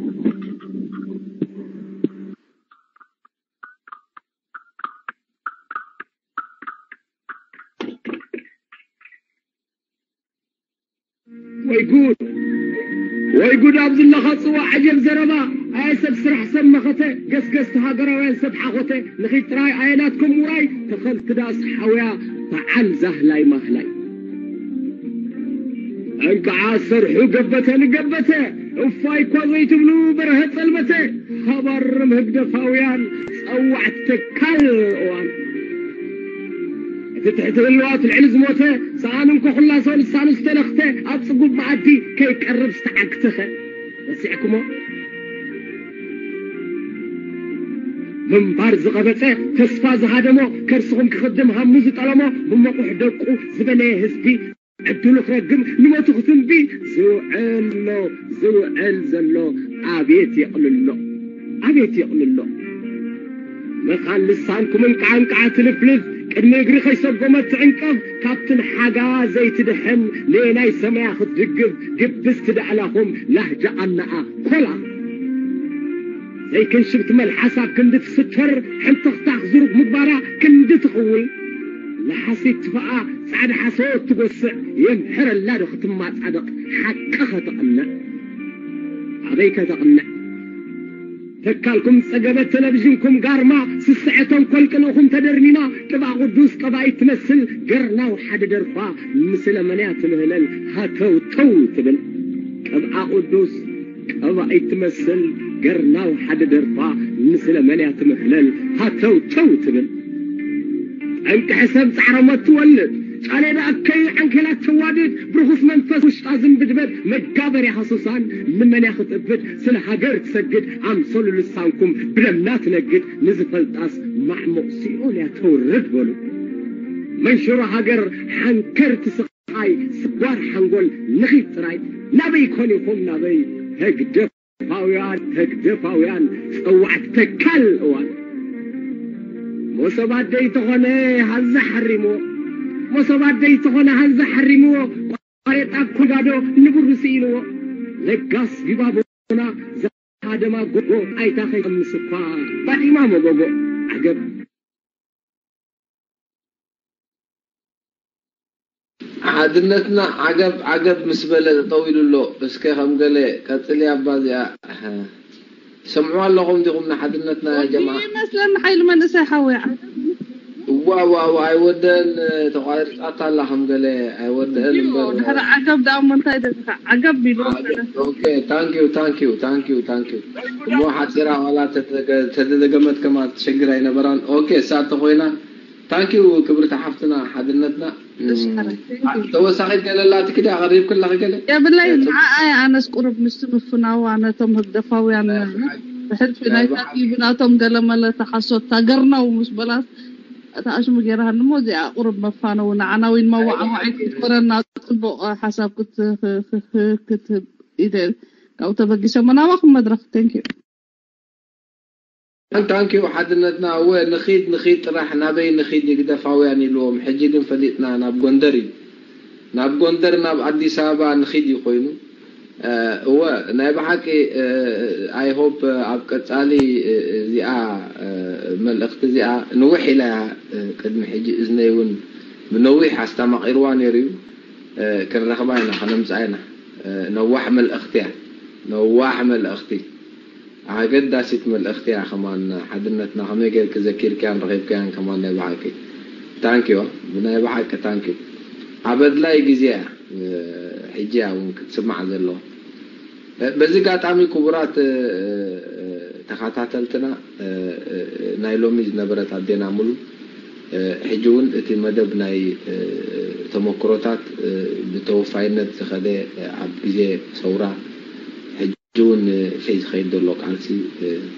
ወይ ጉድ ወይ ጉድ ኣብዚ ኣለኻ ጽዋ ዓጀብ ዘረባ ኣየ ሰብ ስራሕ ሰብ መኸተ ገስገስቲ ሃገራውያን ሰብ ሓኾተ ንኺድ ጥራይ ኣየ ናትኩም ውራይ ተኸልቲ ዳስ ሓውያ በዓል ዛህላይ ማህላይ እንከዓ ሰርሑ ገበተ ንገበተ እፋይ እኳ ዘይትብሉ በርሀ ጸልመተ ሃባርም ህግደፋውያን ጸዋዕቲ ተካል እዋን እቲ ትሕቲ ህልዋት ልዕሊ ዝሞተ ሰኣን እንኮ ኩላሶ ልሳኑ ዝተለኽተ ኣብ ጽጉብ መኣዲ ከይቀርብ ዝተዓግተኸ ረሲዕኩሞ ምንባር ዝቐበጸ ተስፋ ዝሃደሞ ከርስኹም ክኽድም ሃሙ ዝጠለሞ ብመቑሕ ደቁ ዝበለየ ህዝቢ ዕድሉ ክረግም ንሞቱ ክትንቢ ዝውዕሎ ዝውዕል ዘሎ ኣቤት የቕልሎ ኣቤት የቕልሎ መኻን ልሳንኩምን ቃንቃዓ ትልፍልፍ ቅድሚ እግሪ ከይሰጎመት ትዕንቀፍ ካብትን ሓጋ ዘይትድሕን ንናይ ሰማያ ክትድግፍ ግብስቲ ዳዕላኹም ላህጃ ኣናኣ ኮላ ዘይክንሽብቲ መልሓሳ ክንዲ ትስተር ሕንተኽታኽ ዝሩግ ምግባራ ክንዲ ትኽውል ንሓሲት ትፈኣ ጻዕዳ ሓሶት ትጎስዕ የምሕረላ ዶ ክትማጻደቕ ሓቂ ከተቕንዕ ኣበይ ከተቕንዕ ተካልኩም ጸገበት ቴሌቪዥንኩም ጋርማ ስስዐ ተንኮል ቅንእኹም ተደርሚማ ቅብኣ ቅዱስ ቀባኢት ትመስል ገርናው ሓደ ደርፋ ምስለ መንያ ትምህለል ሃተው ተው ትብል ቅብኣ ቅዱስ ቀባኢት ትመስል ገርናው ሓደ ደርፋ ምስለ መንያ ትምህለል ሃተው ተው ትብል ጠንቂ ሕሰብ ጻዕረሞት ትወልድ ጫሌዳ ኣከይ ዓንኬላት ተዋድድ ብርኹስ መንፈስ ውሽጣ ዝንብድበድ መጋበርያ ሃሱሳን ንመንያ ክትእብድ ስለ ሃገር ትሰግድ ኣምሰሉ ልሳንኩም ብደምና ትነግድ ንዝፈልጣስ ማዕሙቕ ሲኦል እያ ተውርድ በሉ መንሽሮ ሃገር ሓንከር ትስቕ ኣይ ስጓር ሓንጎል ንኺድ ጥራይ ናበይ ኮን ኢኹም ናበይ ህግደፋውያን ህግደፋውያን ጸዋዕቲ ተካል እዋን ሞሰብ ኣደይ ተኾነ ሃዛ ሓሪምዎ ሞሰብ ኣደይ ተኾነ ሃዛ ሓሪምዎ ቋሬጣ ኩጋዶ ንብሩ ስኢንዎ ለጋስ ጊባቦና ዘሃደማ ጎጎ ኣይታ ከይቀምስ እኳ ባዲማ መጎጎ ዓገብ ሓድነትና ዓገብ ዓገብ ምስ በለ ጠጠው ኢሉ ኣሎ። እስከ ከም ገለ ቀጽልያ እባ እዚኣ ትሰምዕዋ ኣለኹም ዲኹም ንሓድነትና ያ ጀማዓ? ይመስለኒ ሓይሊ መንእሰይ ሓወይ ዓገብ። እዋ እዋ እዋ ኣይወደን ተቋሪጻታ ኣላ ከም ገለ ኣይወደን እምበር። ድሕሪ ዓገብ ደኣ እሞ እንታይ ደልካ? ዓገብ ኢሉ ኦኬ ታንክ ዩ ታንክ ዩ ታንክ ዩ ታንክ ዩ እሞ ሓጺራ ዋላ ተተደገመት ከማ ትሸግር ኣይነበራን። ኦኬ እሳ እንተኾይና ታንኪዩ ክብርቲ ሓፍትና ሓድነትና ተወሳኺት ገለ ኣላትኪ ድያ ቀሪብክላኺ ገለ የብለይ ንዓኣ እየ ኣነስ ቁሩብ ምስቲ ምፍናዋ ነቶም ህግደፋውያን ብሕልፊ ናይታ ቲቪ ናቶም ገለመለ ተሓሶት ታገርናው ምስ በላት እታ ኣሽሙ ገይራሃኒ እሞ እዚኣ ቁሩብ መፋነዊ ንዓና ውን መዋዕዋዒት ክትኮነና ጽቡቕ ሓሳብ ክትህብ ኢለ ካብኡ ተበጊሰ መናባኹም መድረኽ thank you Thank you ሓድነትና እወ ንኺድ ንኺድ ጥራሕ ናበይ ንኺድ ይግደፋውያን ኢልዎም ሕጂ ግን ፈሊጥና ናብ ጎንደር እዩ ናብ ጎንደር ናብ ኣዲስ ኣበባ ንኺድ እዩ ኮይኑ እወ ናይ ብሓቂ I hope ኣብ ቀጻሊ እዚኣ መልእኽቲ እዚኣ ንውሕ ኢላ እያ ቅድሚ ሕጂ እዝነይ እውን ብነዊሕ ኣስታማቒርዋ ነይሩ እዩ ክንረኽባ ኢና ከነምጽኣ ኢና ነዋሕ መልእኽቲ እያ ነዋሕ መልእኽቲ፣ ኣገዳሲት መልእኽቲ እያ። ከማን ሓድነትና ከመይ ጌርኪ ዘኪርክያን ረኺብክያን ከማን ናይ ብሓቂ ታንኪዩ፣ ብናይ ብሓቂ ታንኪዩ። ኣብ ኣድላይ ግዜ እያ ሕጂ እያ እውን ክትስማዕ ዘለዎ። በዚ ኣጋጣሚ ክቡራት ተኸታተልትና፣ ናይ ሎሚ ዝነበረት ኣዴና ሙሉ፣ ሕጂ እውን እቲ መደብ ናይ ተመክሮታት ብተወፋይነት ዝኸደ፣ ኣብ ግዜ ሰውራ ሕጂ እውን ዝኸይድ ዘሎ ቃልሲ፣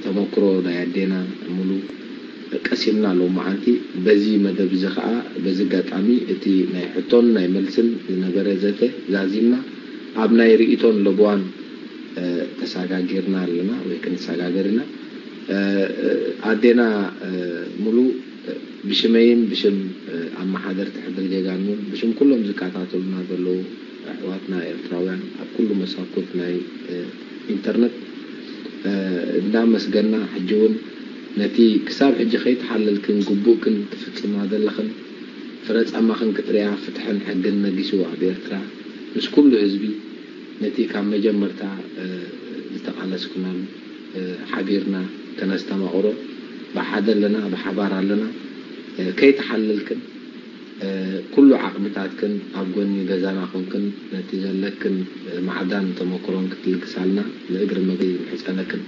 ተመክሮ ናይ ኣዴና ሙሉ ቀሲምና ሎማዓንቲ። በዚ መደብ እዚ ኸዓ፣ በዚ ኣጋጣሚ እቲ ናይ ሕቶን ናይ መልስን ዝነበረ ዘተ ዛዚምና፣ ኣብ ናይ ርእይቶን ለበዋን ተሰጋጊርና ኣለና ወይ ክንሰጋገር ኢና። ኣዴና ሙሉ፣ ብሽመይን ብሽም ኣመሓደርቲ ሕድሪ ጀጋኑን ብሽም ኩሎም ዝከታተሉና ዘለዉ ኣሕዋትና ኤርትራውያን ኣብ ኩሉ መሳኩት ናይ ኢንተርነት እንዳመስገና፣ ሕጂ እውን ነቲ ክሳብ ሕጂ ከይተሓለልክን ግቡእክን ትፍጽማ ዘለኽን ፍረ ጻማኽን ክትሪኣ፣ ፍትሕን ሕግን ነጊሱ ኣብ ኤርትራ፣ ምስ ኩሉ ህዝቢ ነቲ ካብ መጀመርታ ዝተቓለስኩናን ሓቢርና ከነስተማቕሮ ብሓደ ኣለና፣ ብሓባር ኣለና። ከይተሓለልክን ኩሉ ዓቕምታትክን ኣብ ጎኒ ገዛና ኮንክን ነቲ ዘለክን ማዕዳን ተመክሮን ክትልግሳልና ንእግሪ መገዲ ንምሕጸነክን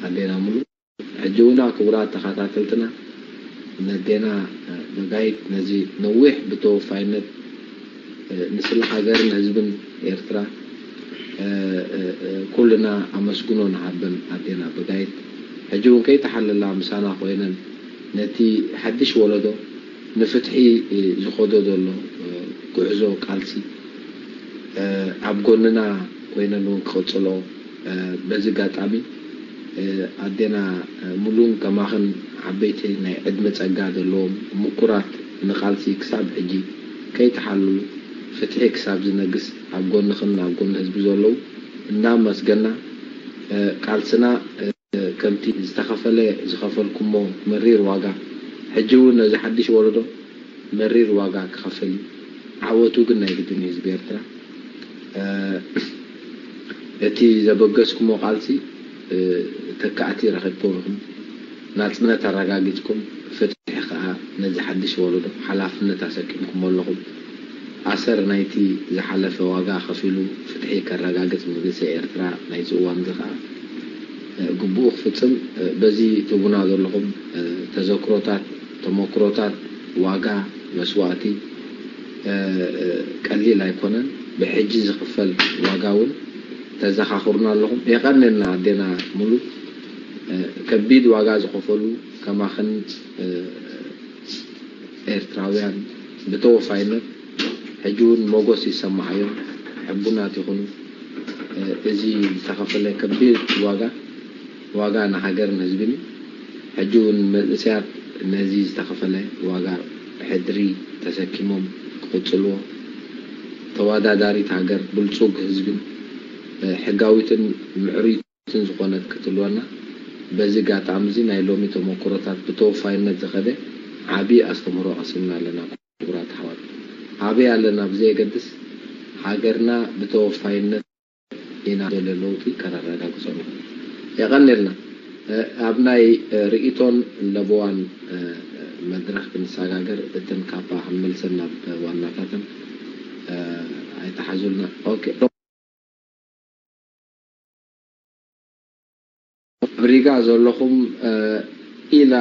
ኣዴና ሙሉ። ሕጂ እውና ክቡራት ተኸታተልትና፣ ነዴና በጋይት ነዚ ነዊሕ ብተወፋይነት ንስለ ሃገርን ህዝብን ኤርትራ ኩልና ኣመስግኖ ንሃበን ኣዴና በጋይት። ሕጂ እውን ከይተሓለላ ምሳና ኮይነን ነቲ ሓድሽ ወለዶ ንፍትሒ ዝኸዶ ዘሎ ጉዕዞ ቃልሲ ኣብ ጎንና ኮይነን እውን ክቕጽሎ፣ በዚ ኣጋጣሚ ኣዴና ሙሉን ከማኽን ዓበይቲ ናይ ዕድመ ጸጋ ዘለዎም ምኩራት ንቃልሲ ክሳብ ሕጂ ከይተሓለሉ ፍትሒ ክሳብ ዝነግስ ኣብ ጎንኽን ኣብ ጎኒ ህዝቢ ዘለዉ እንዳመስገና፣ ቃልስና ከምቲ ዝተኸፈለ ዝኸፈልኩሞ መሪር ዋጋ ሕጂ እውን ነዚ ሓድሽ ወለዶ መሪር ዋጋ ክኸፍል እዩ። ዓወቱ ግን ናይ ግድን እዩ ህዝቢ ኤርትራ። እቲ ዘበገስኩሞ ቃልሲ ተካእቲ ረኺብኩም ኢኹም። ናጽነት ኣረጋጊጽኩም፣ ፍትሒ ከኣ ነዚ ሓድሽ ወለዶ ሓላፍነት ኣሰኪምኩሞ ኣለኹም። ኣሰር ናይቲ ዝሓለፈ ዋጋ ከፊሉ ፍትሒ ከረጋግጽ መንእሰይ ኤርትራ ናይዚ እዋን እዚ ከኣ ግቡኡ ክፍጽም በዚ ትህቡና ዘለኹም ተዘክሮታት፣ ተመክሮታት፣ ዋጋ፣ መስዋእቲ ቀሊል ኣይኮነን። ብሕጂ ዝኽፈል ዋጋ እውን ተዘኻኽሩና ኣለኹም። የቐንየልና ኣዴና ሙሉ፣ ከቢድ ዋጋ ዝኸፈሉ ከማኽን ኤርትራውያን ብተወፋይነት ሕጂ እውን ሞጎስ ይሰማዓዮም፣ ሕቡናት ይኹኑ። እዚ ዝተኸፈለ ከቢድ ዋጋ፣ ዋጋ ንሃገርን ህዝብን እዩ። ሕጂ እውን መንእሰያት ነዚ ዝተኸፈለ ዋጋ ብሕድሪ ተሰኪሞም ክቕጽልዎ፣ ተወዳዳሪት ሃገር፣ ብልጹግ ህዝብን ሕጋዊትን ምዕሩይትን ዝኾነት ክትህልወና፣ በዚ ኣጋጣሚ እዚ ናይ ሎሚ ተመክሮታት ብተወፋይነት ዝኸደ ዓቢ ኣስተምህሮ ቀሲምና ኣለና። ክቡራት ኣሕዋት፣ ኣበይ ኣለና ብዘየገድስ፣ ሃገርና ብተወፋይነት ኢና ዘሎ ለውጢ ከነረጋግጾ ንኽእል። የቐንየልና። ኣብ ናይ ርእይቶን ለበዋን መድረኽ ክንሰጋገር፣ እተን ካባ ክንመልሰን ናብ ዋናታተን ኣይተሓዙልና። ኦኬ። ኣብ ሪጋ ዘለኹም፣ ኢላ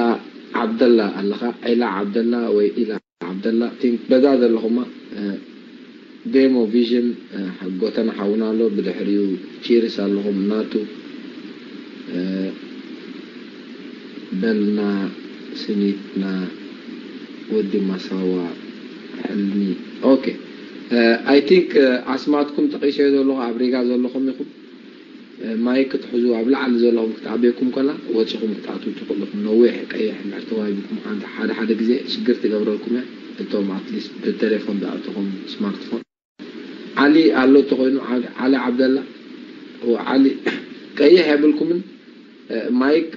ዓብደላ ኣለኻ፣ ዒላ ዓብደላ ወይ ኢላ ዓብደላ፣ ቲንክ በዛ ዘለኹማ፣ ዴሞ ቪዥን፣ ጎተና ሓውና ኣሎ፣ ብድሕሪኡ ቺርስ ኣለኹም፣ ናቱ፣ በልና ስኒትና ወዲ ማሳዋ ሕልሚ። ኦኬ፣ ኣይ ቲንክ ኣስማትኩም ጠቒሰዮ ዘለኹ ኣብ ሪጋ ዘለኹም ኢኹም። ማይክ ክትሕዙ ኣብ ላዕሊ ዘለኹም ክትኣበየኩም ከላ ወፂኹም ክትኣትዉ ትኽእሉ ኢኹም። ነዊሕ ቀይሕ እንድሕር ተዋሂብኩም ሓንቲ ሓደ ሓደ ግዜ ሽግር ትገብረልኩም እያ። እቶም ኣትሊስት ብቴሌፎን ዝኣተኹም ስማርትፎን። ዓሊ ኣሎ እንተኾይኑ፣ ዓሊ ዓብደላ፣ ዓሊ ቀይሕ የብልኩምን። ማይክ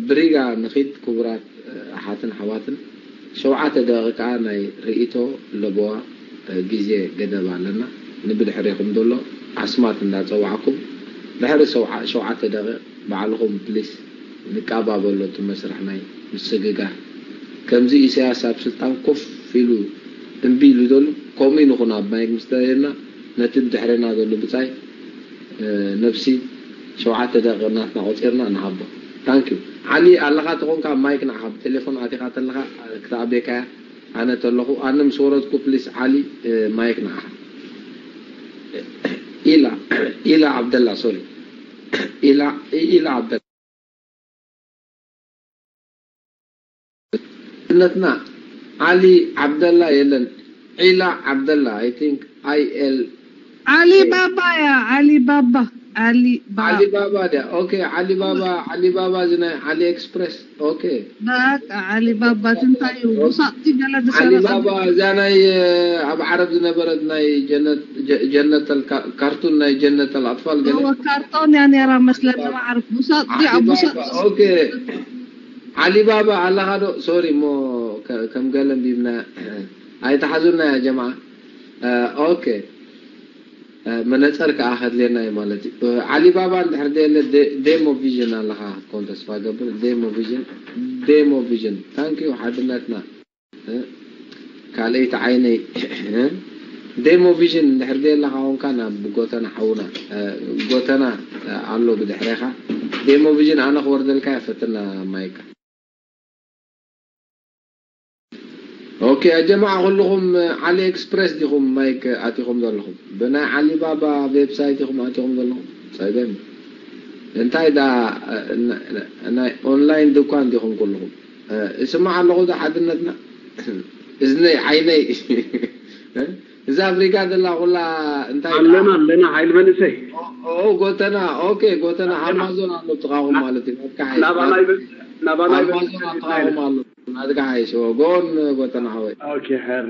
ብሪጋ ንኺድ ክቡራት ኣሓትን ኣሕዋትን። ሸውዓተ ደቂቃ ናይ ርእይቶ ለበዋ ግዜ ገደብ ኣለና። ንብድሕሬኹም ዘሎ ኣስማት እንዳጸዋዕኩም ድሕሪ ሸውዓ- ሸውዓተ ደቂቕ ባዕልኹም ፕሊስ ንቃባበሎ እቲ መስርሕ ናይ ምስግጋር። ከምዚ ኢሳያስ ኣብ ስልጣን ኮፍ ኢሉ እምቢ ኢሉ ዘሎ ከምኡ ንኹን ኣብ ማይክ ምስ ተረየና ነቲ ብድሕረና ዘሎ ብጻይ ነብሲ ሸውዓተ ደቂቕ ናትና ቆጺርና ንሃቦ። ታንኪዩ ዓሊ ኣለኻ ተኾንካ ማይክ ንዓኻ ብቴሌፎን ኣቲኻ ተለኻ ክትኣቤካያ ኣነ ተለኹ ኣነ ምስ ወረድኩ ፕሊስ ዓሊ ማይክ ንዓኻ ኢላ ኢላ ዓብደላ ሶሪ ኢላ ኢላ ዓብደላ ነትና ዓሊ ዓብደላ የለን ዒላ ዓብደላ I think I L ዓሊ ባባ ያ ዓሊ ባባ ዓሊ ባባ ዓሊ ባባ ድያ ኦኬ ዓሊ ባባ ዓሊ ባባ እዚ ናይ ዓሊ ኤክስፕረስ ኦኬ በቃ ዓሊ ባባ ትንታዩ ውሳጥቲ ገለ ዓሊ ዝሰረቀ ባባ እዛ ናይ ኣብ ዓረብ ዝነበረት ናይ ጀነት ጀነተል ካርቱን ናይ ጀነተል ኣጥፋል ገለ ካርቶን ያ ነራ መስለኒ ማዕረፍ ውሳጥ ዲያ ዓሊ ውሳጥ ባባ ኦኬ ዓሊ ባባ ኣለኻ ዶ ሶሪ እሞ ከም ገለ እንዲብና ኣይተሓዙና ያ ጀማዓ ኦኬ መነፀር ከዓ ከድልየና እዩ ማለት እዩ ዓሊባባ እንድሕር ደየለ ዴሞ ቪዥን ኣለካ ክትኮን ተስፋ ገብር ዴሞ ቪዥን ዴሞ ቪዥን ታንኪዩ ሓድነትና ካልአይቲ ዓይነይ ዴሞ ቪዥን እንድሕር ደየለካ ኮንካ ናብ ጎተና ሓውና ጎተና ኣሎ ብድሕሬካ ዴሞ ቪዥን ኣነ ክወርደልካ ፈትና ማይካ ኦኬ ያ ጀማዓ ኩልኹም ዓሊ ኤክስፕረስ ዲኹም ማይክ ኣቲኹም ዘለኹም ብናይ ዓሊ ባባ ዌብሳይት ኢኹም ኣቲኹም ዘለኹም ጸገም እንታይ ዳ ናይ ኦንላይን ድኳን ዲኹም ኩልኹም እስማዕ ኣለኹ ዶ ሓድነትና እዝነይ ዓይነይ እዛ ኣፍሪካ ዘላ ኩላ እንታይ ኣለና ኣለና ሓይል መንእሰይ ኦ ጎተና ኦኬ ጎተና ኣማዞን ኣሎ ጥቃኹም ማለት እዩ ናትካ ሓይሽ ናባናይ ናባናይ ኣማዞን ጥቃኹም ኣሎ ናትካ ሓይሽ ጎን ጎተና ሓወይ ኦኬ ሕር